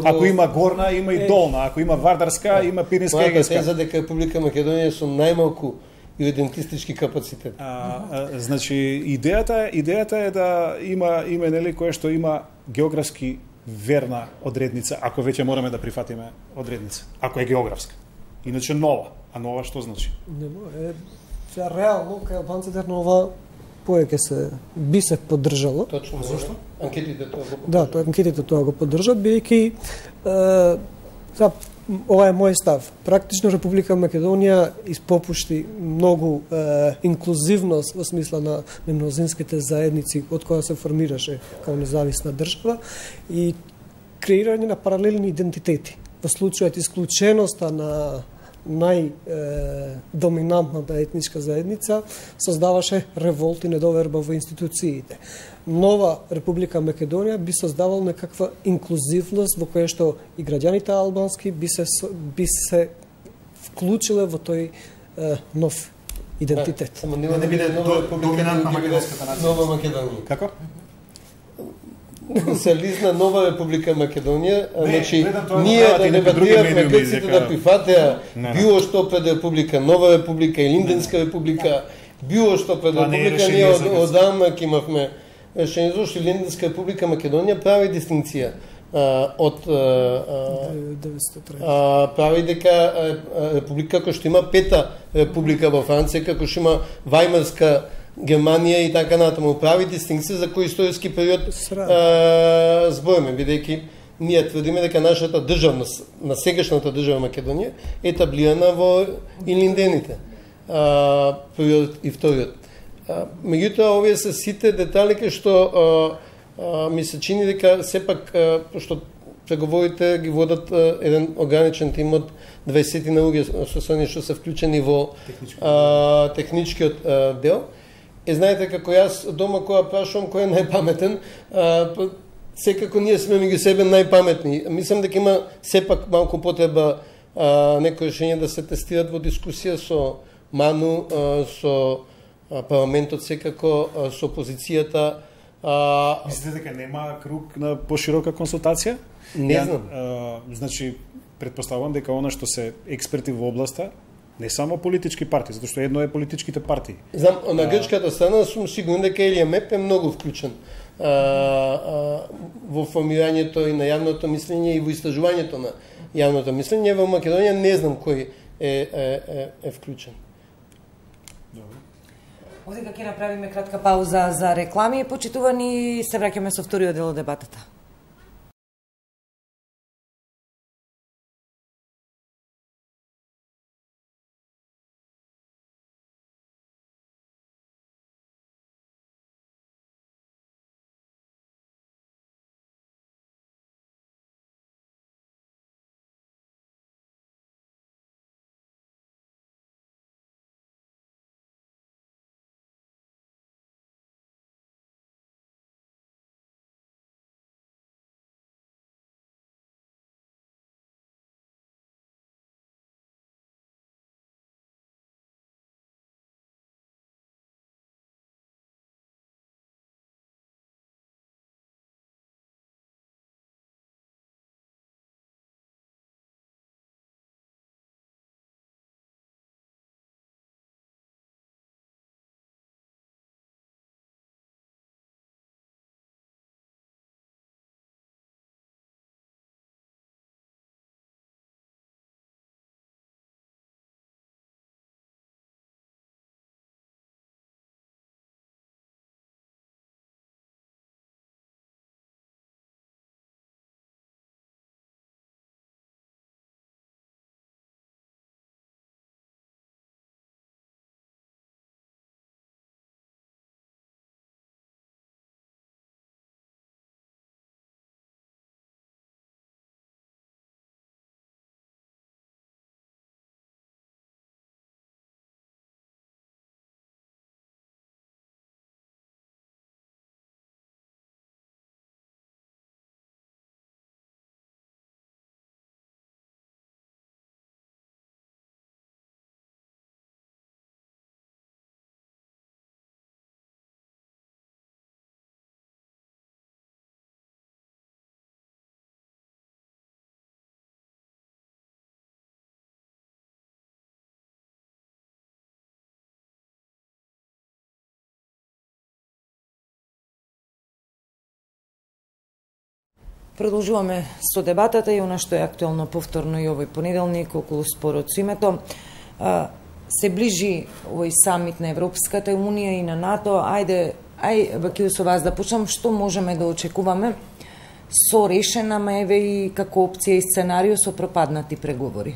Ако има Горна, има и Долна. Ако има Вардарска, има Пиринска и Егејска. Теза дека Република Македонија со најмалку иредентистички капацитет. Значи идејата е да има нели кое што има географски верна одредница, ако веќе мораме да прифатиме одредница, ако е географска. Иначе нова. А нова што значи? Сега реално кај албанците нова повеќе би се поддржало. Точно. Зошто? Анкетите тоа го поддржат. Да, анкетите тоа го поддржат, бидејќи ова е мој став. Практично Република Македонија испопушти многу инклузивност во смисла на мнозинските заедници од која се формираше како независна држава и креирање на паралелни идентитети. Во случајот исклученоста на најдоминантната етничка заедница создаваше револт и недоверба во институциите. Нова Република Македонија би создавал некаква инклузивност во која што и граѓаните албански би се вклучиле во тој нов идентитет. Само нема да биде нова Република Нова Македонија. Како? Се лизна нова Република Македонија, значи ние да дебатираме грците да прифатеа било што пред Република Нова Република и Линденска Република, било што пред Република, ние одамна ќе имавме решение, зашто Линденска Република Македонија прави дистинција од прави дека Република кој што има пета Република во Франција, како што има Вајмарска Германија и така натаму, прави дистинкција за кој историски период збориме, бидејќи ние тврдиме дека нашата државност, на сегашната држава Македонија, е етаблирана во Илиндените, првиот и вториот. Меѓутоа, овие се сите детали што ми се чини дека сепак, што преговорите ги водат еден ограничен тим од 20 на луѓе со они што се вклучени во техничкиот дел. Знаете, како јас дома кога прашувам кој е најпаметен, секако ние сме меѓу себе најпаметни. Мислам дека има сепак малку потреба некои решења да се тестират во дискусија со Ману, со парламентот секако, со опозицијата. Мислите дека нема круг на поширока консултација? Не знам. Значи, предпоставувам дека она што се експерти во областа, не само политички партии, затоа што едно е политичките партии. Знам, на грчката страна сум сигурен дека Елија Меп е многу вклучен во формирањето и на јавното мислење и во истражувањето на јавното мислење. Во Македонија не знам кој е вклучен. Овдека ќе направиме кратка пауза за реклами. Почитувани, се враќаме со вториот дел од дебатата. Продолжуваме со дебатата и она што е актуелно повторно и овој понеделник околу спорот со името. Се ближи овој самит на Европската унија и на НАТО. Бакил, со вас да почнам, што можеме да очекуваме со решена еве и како опција и сценарио со пропаднати преговори?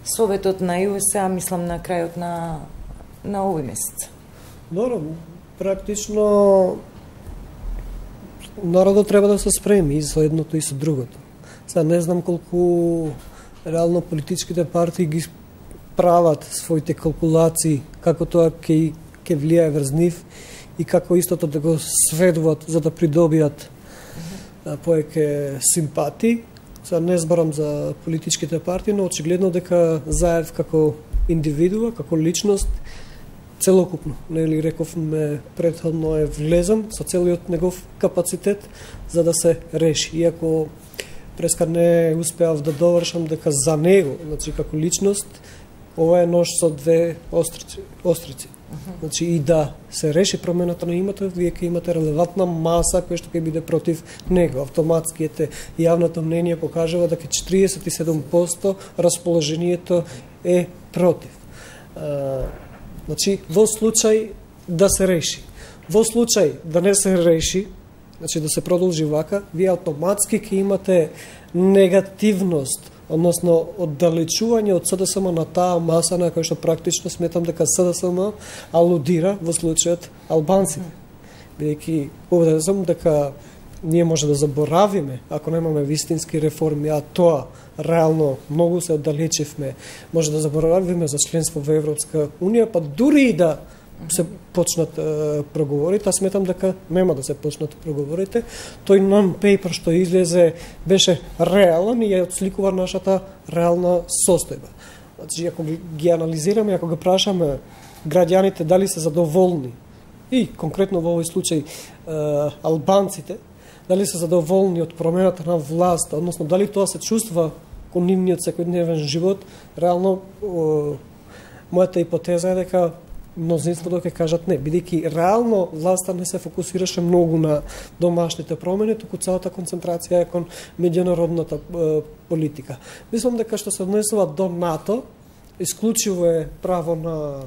Советот на ЮСА, мислам на крајот на овој месец. Добро, практично народот треба да се спреми и со едното и со другото. Сега не знам колку реално политичките партии ги прават своите калкулации, како тоа ќе влијае врз нив и како истото да го сведуваат за да придобијат повеќе симпатии. Сега не зборам за политичките партии, но очигледно дека Заев како индивидуа, како личност, целокупно, нели рековме претходно е влезен со целиот негов капацитет за да се реши. Иако преска не успеав да довршам дека за него, значи како личност, ова е нож со две острици. Значи и да се реши промената на името, вие ќе имате релевантна маса која што ќе биде против него. Автоматски јавното мнение покажува дека 47% расположението е против. Значи, во случај да се реши. Во случај да не се реши, значи да се продолжи вака, вие автоматски ќе имате негативност, односно оддалечување од СДСМ на таа маса на која што практично сметам дека СДСМ алудира во случајот албанците. Бидејќи убеден сум дека ние може да заборавиме ако немаме вистински реформи, а тоа реално многу се оддалечивме, може да заборавиме за членство во Европска унија, па дури и да се почнат преговорите, сметам дека нема да се почнат преговорите. Тој non-paper што излезе беше реален и ја отсликува нашата реална состојба. Значи, ако ги анализираме, ако го прашаме граѓаните дали се задоволни, и конкретно во овој случај албанците, дали се задоволни од промената на власт, односно дали тоа се чувства кон нивниот секојдневен живот, реално мојата ипотеза е дека мнозинството ќе кажат не, бидејќи реално власта не се фокусираше многу на домашните промени, туку целата концентрација е кон меѓународната политика. Мислам дека што се однесува до НАТО, исклучиво е право на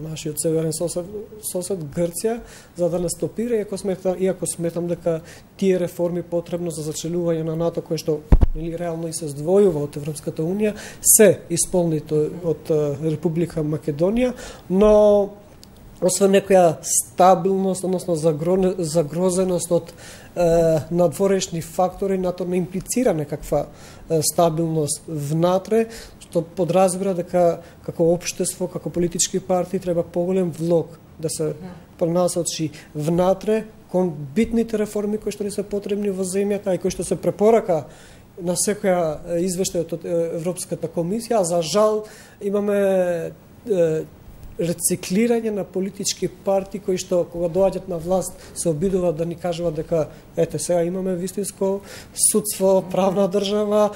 нашиот северен сосед Грција за да не стопира, иако сметам дека тие реформи потребно за зачелување на НАТО, кој што реално и се здвојува од Европската унија, се исполнито од Република Македонија, но освен некоја стабилност, односно загрозеност од надворешни фактори, НАТО не имплицира некаква стабилност внатре, што подразбира дека како општество, како политички партии треба поголем влог да се пронасочи внатре кон битните реформи кои што ни се потребни во земјата и кои што се препорака на секоја извештај од Европската комисија, а за жал имаме рециклирање на политички партии кои што кога доаѓаат на власт се обидуваат да ни кажуваат дека ете сега имаме вистинско судство, правна држава,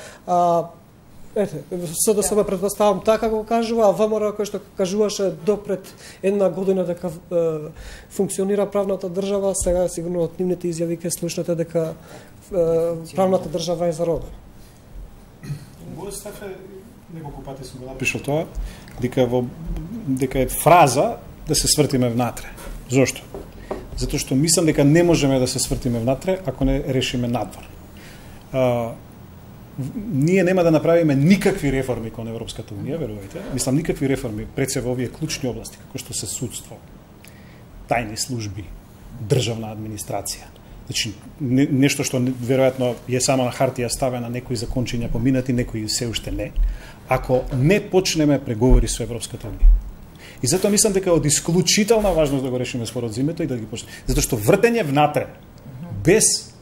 ете, СДСМ претпоставам така го кажува, а ВМРО кој што кажуваше допред една година дека функционира правната држава, сега сигурно од нивните изјави ќе слушнете дека правната држава е заробена. Мојот став е, неколку пати сум го напишал тоа, дека е фраза да се свртиме внатре. Зошто? Затоа што мислам дека не можеме да се свртиме внатре ако не решиме надвор. Ние нема да направиме никакви реформи кон Европската унија, верувајте. Мислам никакви реформи пред се во овие клучни области, како што се судство, тајни служби, државна администрација. Значи, нешто што веројатно е само на хартија ставено, некои закончиња поминати, некои се уште не, ако не почнеме преговори со Европската унија. И затоа мислам дека од исклучителна важност да го решиме спорот за името и да ги почнеме. Затоа што вртење внатре, без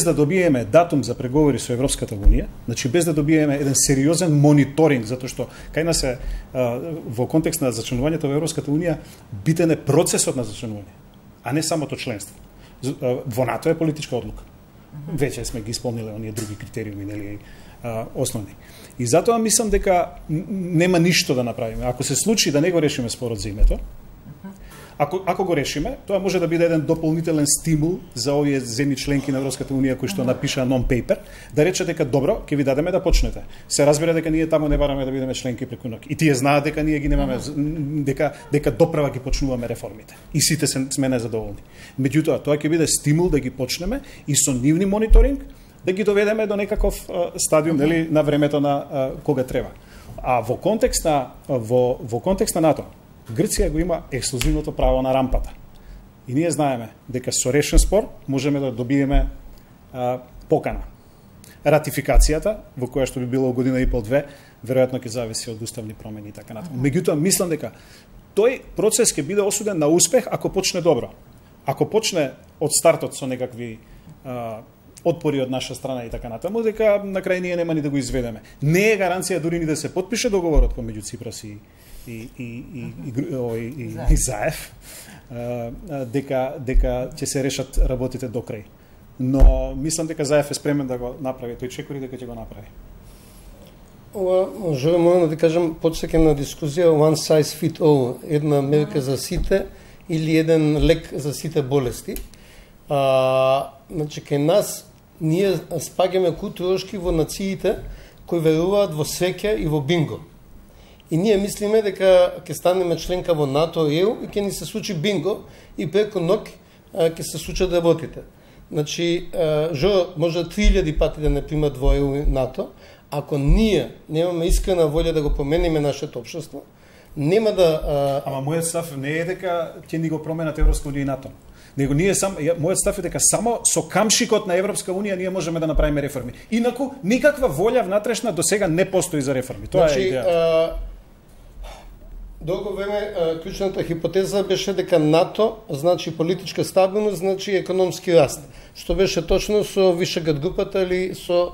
да добиеме датум за преговори со Европската унија, значи без да добиеме еден сериозен мониторинг, затоа што кај нас е во контекст на зачленувањето во Европската унија битен е процесот на зачленување, а не самото членство. Во НАТО е политичка одлука. Веќе сме ги исполниле оние други критериуми, нели, основни. И затоа мислам дека нема ништо да направиме. Ако се случи да не го решиме спорот за името, ако го решиме, тоа може да биде еден дополнителен стимул за овие земји членки на Европската унија кои што напишаа non-paper, да рече дека добро, ќе ви дадеме да почнете. Се разбира дека ние таму не бараме да бидеме членки преку ноќ. И тие знаат дека ние ги немаме, дека доправа ги почнуваме реформите. И сите сме незадоволни. Меѓутоа, тоа ќе биде стимул да ги почнеме и со нивни мониторинг да ги доведеме до некаков стадиум, нели, на времето на кога треба. А во контекст на НАТО, Грција го има ексклузивното право на рампата. И ние знаеме дека со решен спор можеме да добиеме покана. Ратификацијата, во која што би било година и пол-две, веројатно ќе зависи од уставни промени и така натаму. Меѓутоа, мислам дека тој процес ќе биде осуден на успех ако почне добро. Ако почне од стартот со некакви отпори од наша страна и така натаму, дека на крај ние нема ни да го изведеме. Не е гаранција дури ни да се потпише договорот помеѓу Ципрас и Заев, дека ќе се решат работите до крај. Но мислам дека Заев е спремен да го направи, тој чекори дека ќе го направи. Ова, можеме да кажам, подсекам на дискусија one size fit all, една мерка за сите или еден лек за сите болести. Значи, кај нас ние спаѓаме културошки во нациите кои веруваат во среќа и во бинго. И ние мислиме дека ќе станеме членка во НАТО и ЕУ и ќе ни се случи бинго и преку ноќ ќе се случат работите. Значи, Жо може 3000 пати да не примат во ЕУ и НАТО, ако ние немаме искрена волја да го помениме нашето општество, нема да... Ама мојот став не е дека ќе ни го променат Европска унија и НАТО. Него ние мојот став е дека само со камшикот на Европска унија ние можеме да направиме реформи. Инаку никаква волја внатрешна до сега не постои за реформи. Тоа е идејата. Долго време клучната хипотеза беше дека НАТО значи политичка стабилност, значи економски раст. Што беше точно со Вишеград групата или со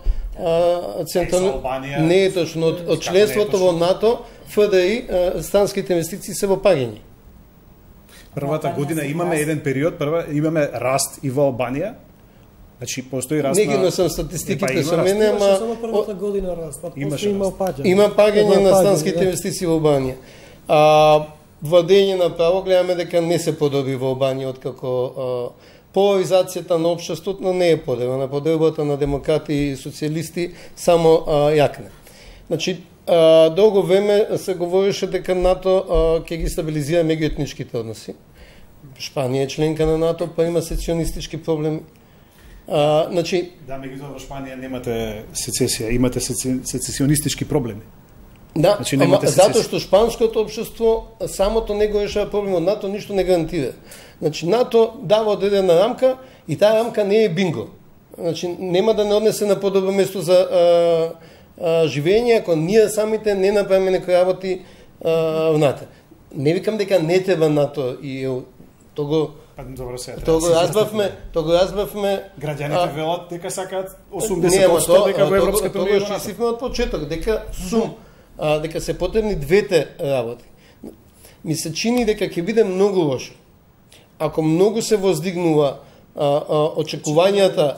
централно... Не е точно. Од членството во НАТО, ФДИ, странските инвестиции се во паѓање. Првата година имаме еден период, имаме раст и во Албанија. Значи постои раст. Не ги носам статистиките со мене, ама само првата година раст, а после има паѓање. Има паѓање на странските инвестиции во Албанија. Владење на право гледаме дека не се подоби во Албанија откако поларизацијата на општеството не е подобрена, подобрата на демократи и социјалисти само јакне. Значи, долго време се говореше дека НАТО ќе ги стабилизира меѓуетничките односи. Шпанија е членка на НАТО, па има сецесионистички проблеми. Значи, да, меѓутоа во Шпанија немате сецесија, имате сецесионистички проблеми. Да, значи, затоа што шпанското општество самото не го решава проблемот, НАТО ништо не гарантира. Значи, НАТО дава одредена рамка и таа рамка не е бинго. Значи, нема да не однесе на подобро место за живење ако ние самите не направиме некои работи во НАТО. Не викам дека не треба НАТО и того го разбавме. Граѓаните велат дека сакаат 80% дека во Европската унија. Тоа што од почеток дека дека се потребни двете работи. Ми се чини дека ќе биде многу лошо. Ако многу се воздигнува очекувањата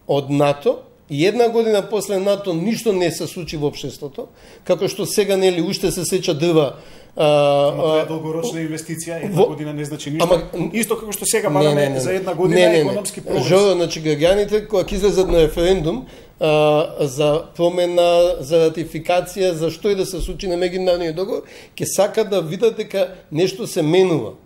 од НАТО, и една година после НАТО ништо не се случи во општеството, како што сега нели уште се сеча дрва. Тоа е долгорочна инвестиција, една година не значи ништо. Исто како што сега бараме за една година економски прогрес. Жо, значи граѓаните кога ќе излезат на референдум за промена, за ратификација, за што и да се случи на меѓународниот договор, ќе сакат да видат дека нешто се менува.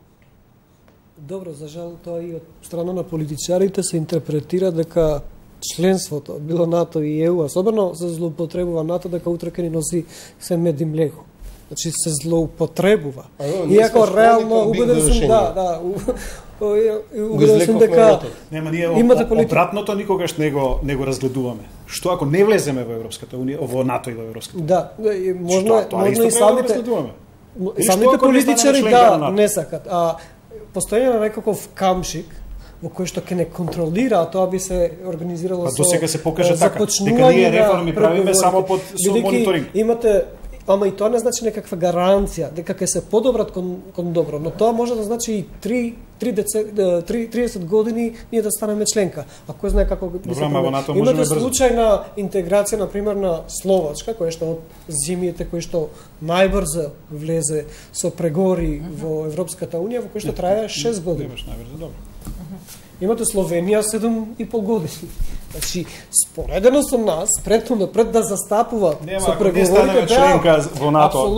Добро, за жал тоа и од страна на политичарите се интерпретира дека членството, било НАТО и ЕУ, особено се злоупотребува НАТО дека утре ќе ни носи се мед и млеко. Значи се злоупотребува. Иако реално убеден сум убеден сум дека нема ние обратното никогаш не го разгледуваме. Што ако не влеземе во Европската унија, во НАТО и во Европската унија? Да, можно и самите политичари не сакат. Постојано некаков камшик во кој што ќе не контролира, а тоа би се организирало со досега се покажа така, дека ние реформи правиме само под мониторинг. Имате, ама и тоа не значи некаква гаранција дека ќе се подобрат кон добро, но тоа може да значи и 30 години ние да станеме членка. А кој знае како би се промени. Имате случај на интеграција, например, на Словачка, која што од зимите, кој што најбрзо влезе со преговори во Европската унија, во кој што трае 6 години. Имаш најбрзо, добро. Имате Словенија 7,5 години. Значи, споредено со нас, пред да застапува со преговорите членка во НАТО,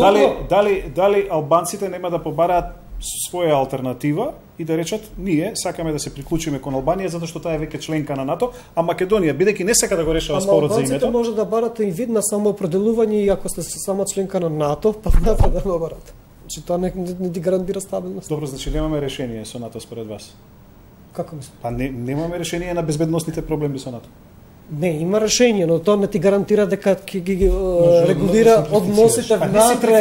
дали албанците нема да побараат своја алтернатива и да речат ние сакаме да се приклучиме кон Албанија затоа што таа е веќе членка на НАТО, а Македонија бидејќи не сака да го решава спорот за името. Албанците може да барат и вид на самоопределување и ако сте сама членка на НАТО, па НАТО да го барат. Значи тоа не ти гарантира стабилност. Добро, значи немаме решение со НАТО според вас. Како мислите? Па немаме решение на безбедносните проблеми со НАТО. Не, има решение, но тоа не ти гарантира дека ќе ги регулира односите внатре.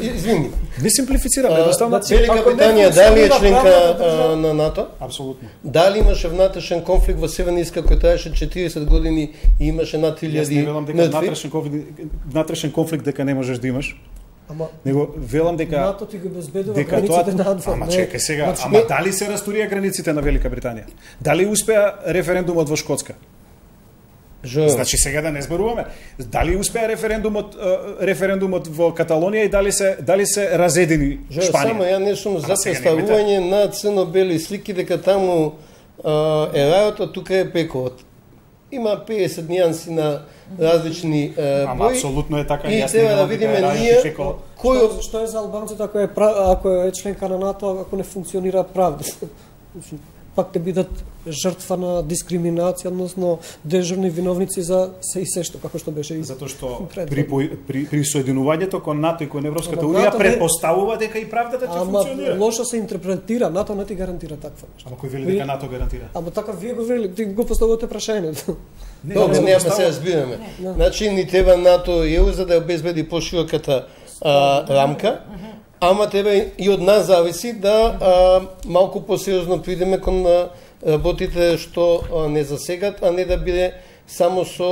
Извини. Не симплифицираме, едноставно. Велика Британија дали е членка на НАТО? Апсолутно. Дали имаше внатрешен конфликт во Северна Ирска кој траеше 40 години и имаше над 1000 мртви? Јас не велам дека внатрешен конфликт дека не можеш да имаш. Него велам дека НАТО ти го безбедува границите на надвор. Ама чекај сега, дали се растурија границите на Велика Британија? Дали успеа референдумот во Шкотска? Значи сега да не зборуваме. Дали успеа референдумот во Каталонија и дали се разедини Шпанија? Само ја не сум за представување на црно-бели слики дека таму е рајот, а тука е пекот. Има 50 нијанси на различни бои. Ама апсолутно е така. И треба да видиме ние кој што е за албанците ако е членка на НАТО, ако не функционира правда. Пак ќе бидат жртва на дискриминација, односно дежурни виновници за се и се што, како што беше и затоа што при соединувањето кон НАТО и кон Европската унија претпоставува дека и правдата ќе функционира. Ама лошо се интерпретира, НАТО не ти гарантира таква нешто. Ама кој вели дека НАТО гарантира? Ама така вие го вели, ти го поставувате прашањето. Добро, нема се разбираме. Значи ни треба НАТО и ЕУ за да обезбеди пошироката рамка. Ама треба и од нас зависи да малку посериозно придеме кон работите што не засегат, а не да биде само со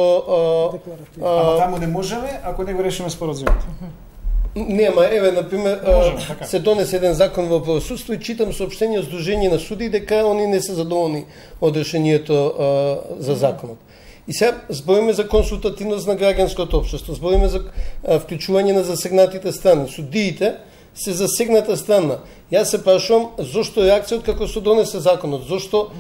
Ама таму не можеме ако не го решиме споразумот. Нема, еве например се донесе еден закон во правосудство и читам соопштение од Сдружение на суди дека они не се задоволни од решението за законот. И сега збориме за консултативност на граѓанското општество, збориме за вклучување на засегнатите страни. Судиите се засегната страна. Јас се прашувам зошто реакцијата како се донесе законот, зошто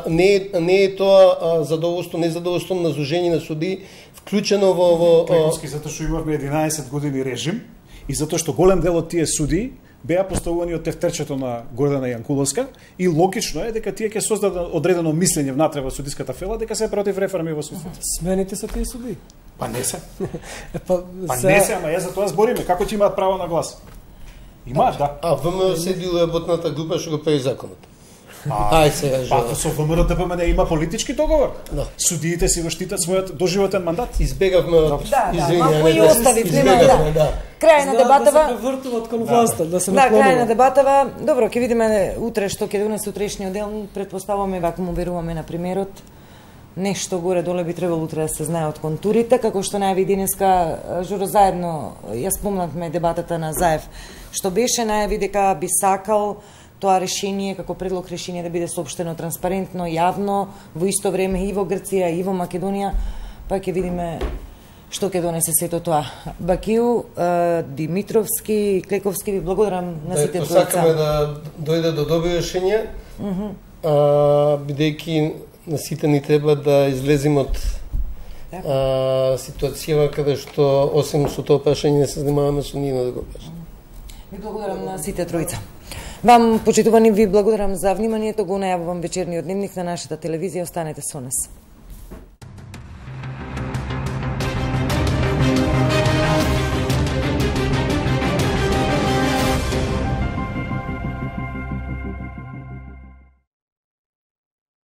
не е тоа задоволство, незадоволство на Сдружение на судии вклучено во Клековски, затоа што имавме 11 години режим и затоа што голем дел од тие судии беа поставувани од тефтерчето на Гордана Јанкуловска и логично е дека тие ќе создадат одредено мислење внатре во судиската фела дека се против реформи во судството. Смените се тие судии. Па не се. Па Не се, ама ја за тоа збориме. Како ќе имаат право на глас? Имаат, да. А ВМРО седи работната група што го прави законот. Ај сега Па со ВМРО ДПМН има политички договор. Да. Судиите си го штитат својот доживотен мандат. Избегавме малку и оставив, нема да. Крај на дебатава. Да се вртуват кон власта, да се Да, крај на наклонуват. дебатава. Добро, ќе видиме утре што ќе донесе утрешниот дел. Претпоставуваме, вака му веруваме на премиерот. Нешто горе доле би требало утре да се знае од контурите, како што најави денеска Журо заедно, ја спомнавме дебатата на Заев, што беше најави дека би сакал тоа решение, како предлог решение да биде соопштено транспарентно, јавно, во исто време и во Грција и во Македонија, па ќе видиме што ќе донесе сето тоа. Бакију, Димитровски, Клековски, ви благодарам на сите тројца. Сакаме да дојде до добри решенија, бидејќи на сите ни треба да излеземе од ситуација каде што осем со тоа прашање не се занимаваме со ни на друго прашање. Ви благодарам на сите тројца. Вам, почитувани, ви благодарам за вниманието, го најавувам вечерниот дневник на нашата телевизија, останете со нас.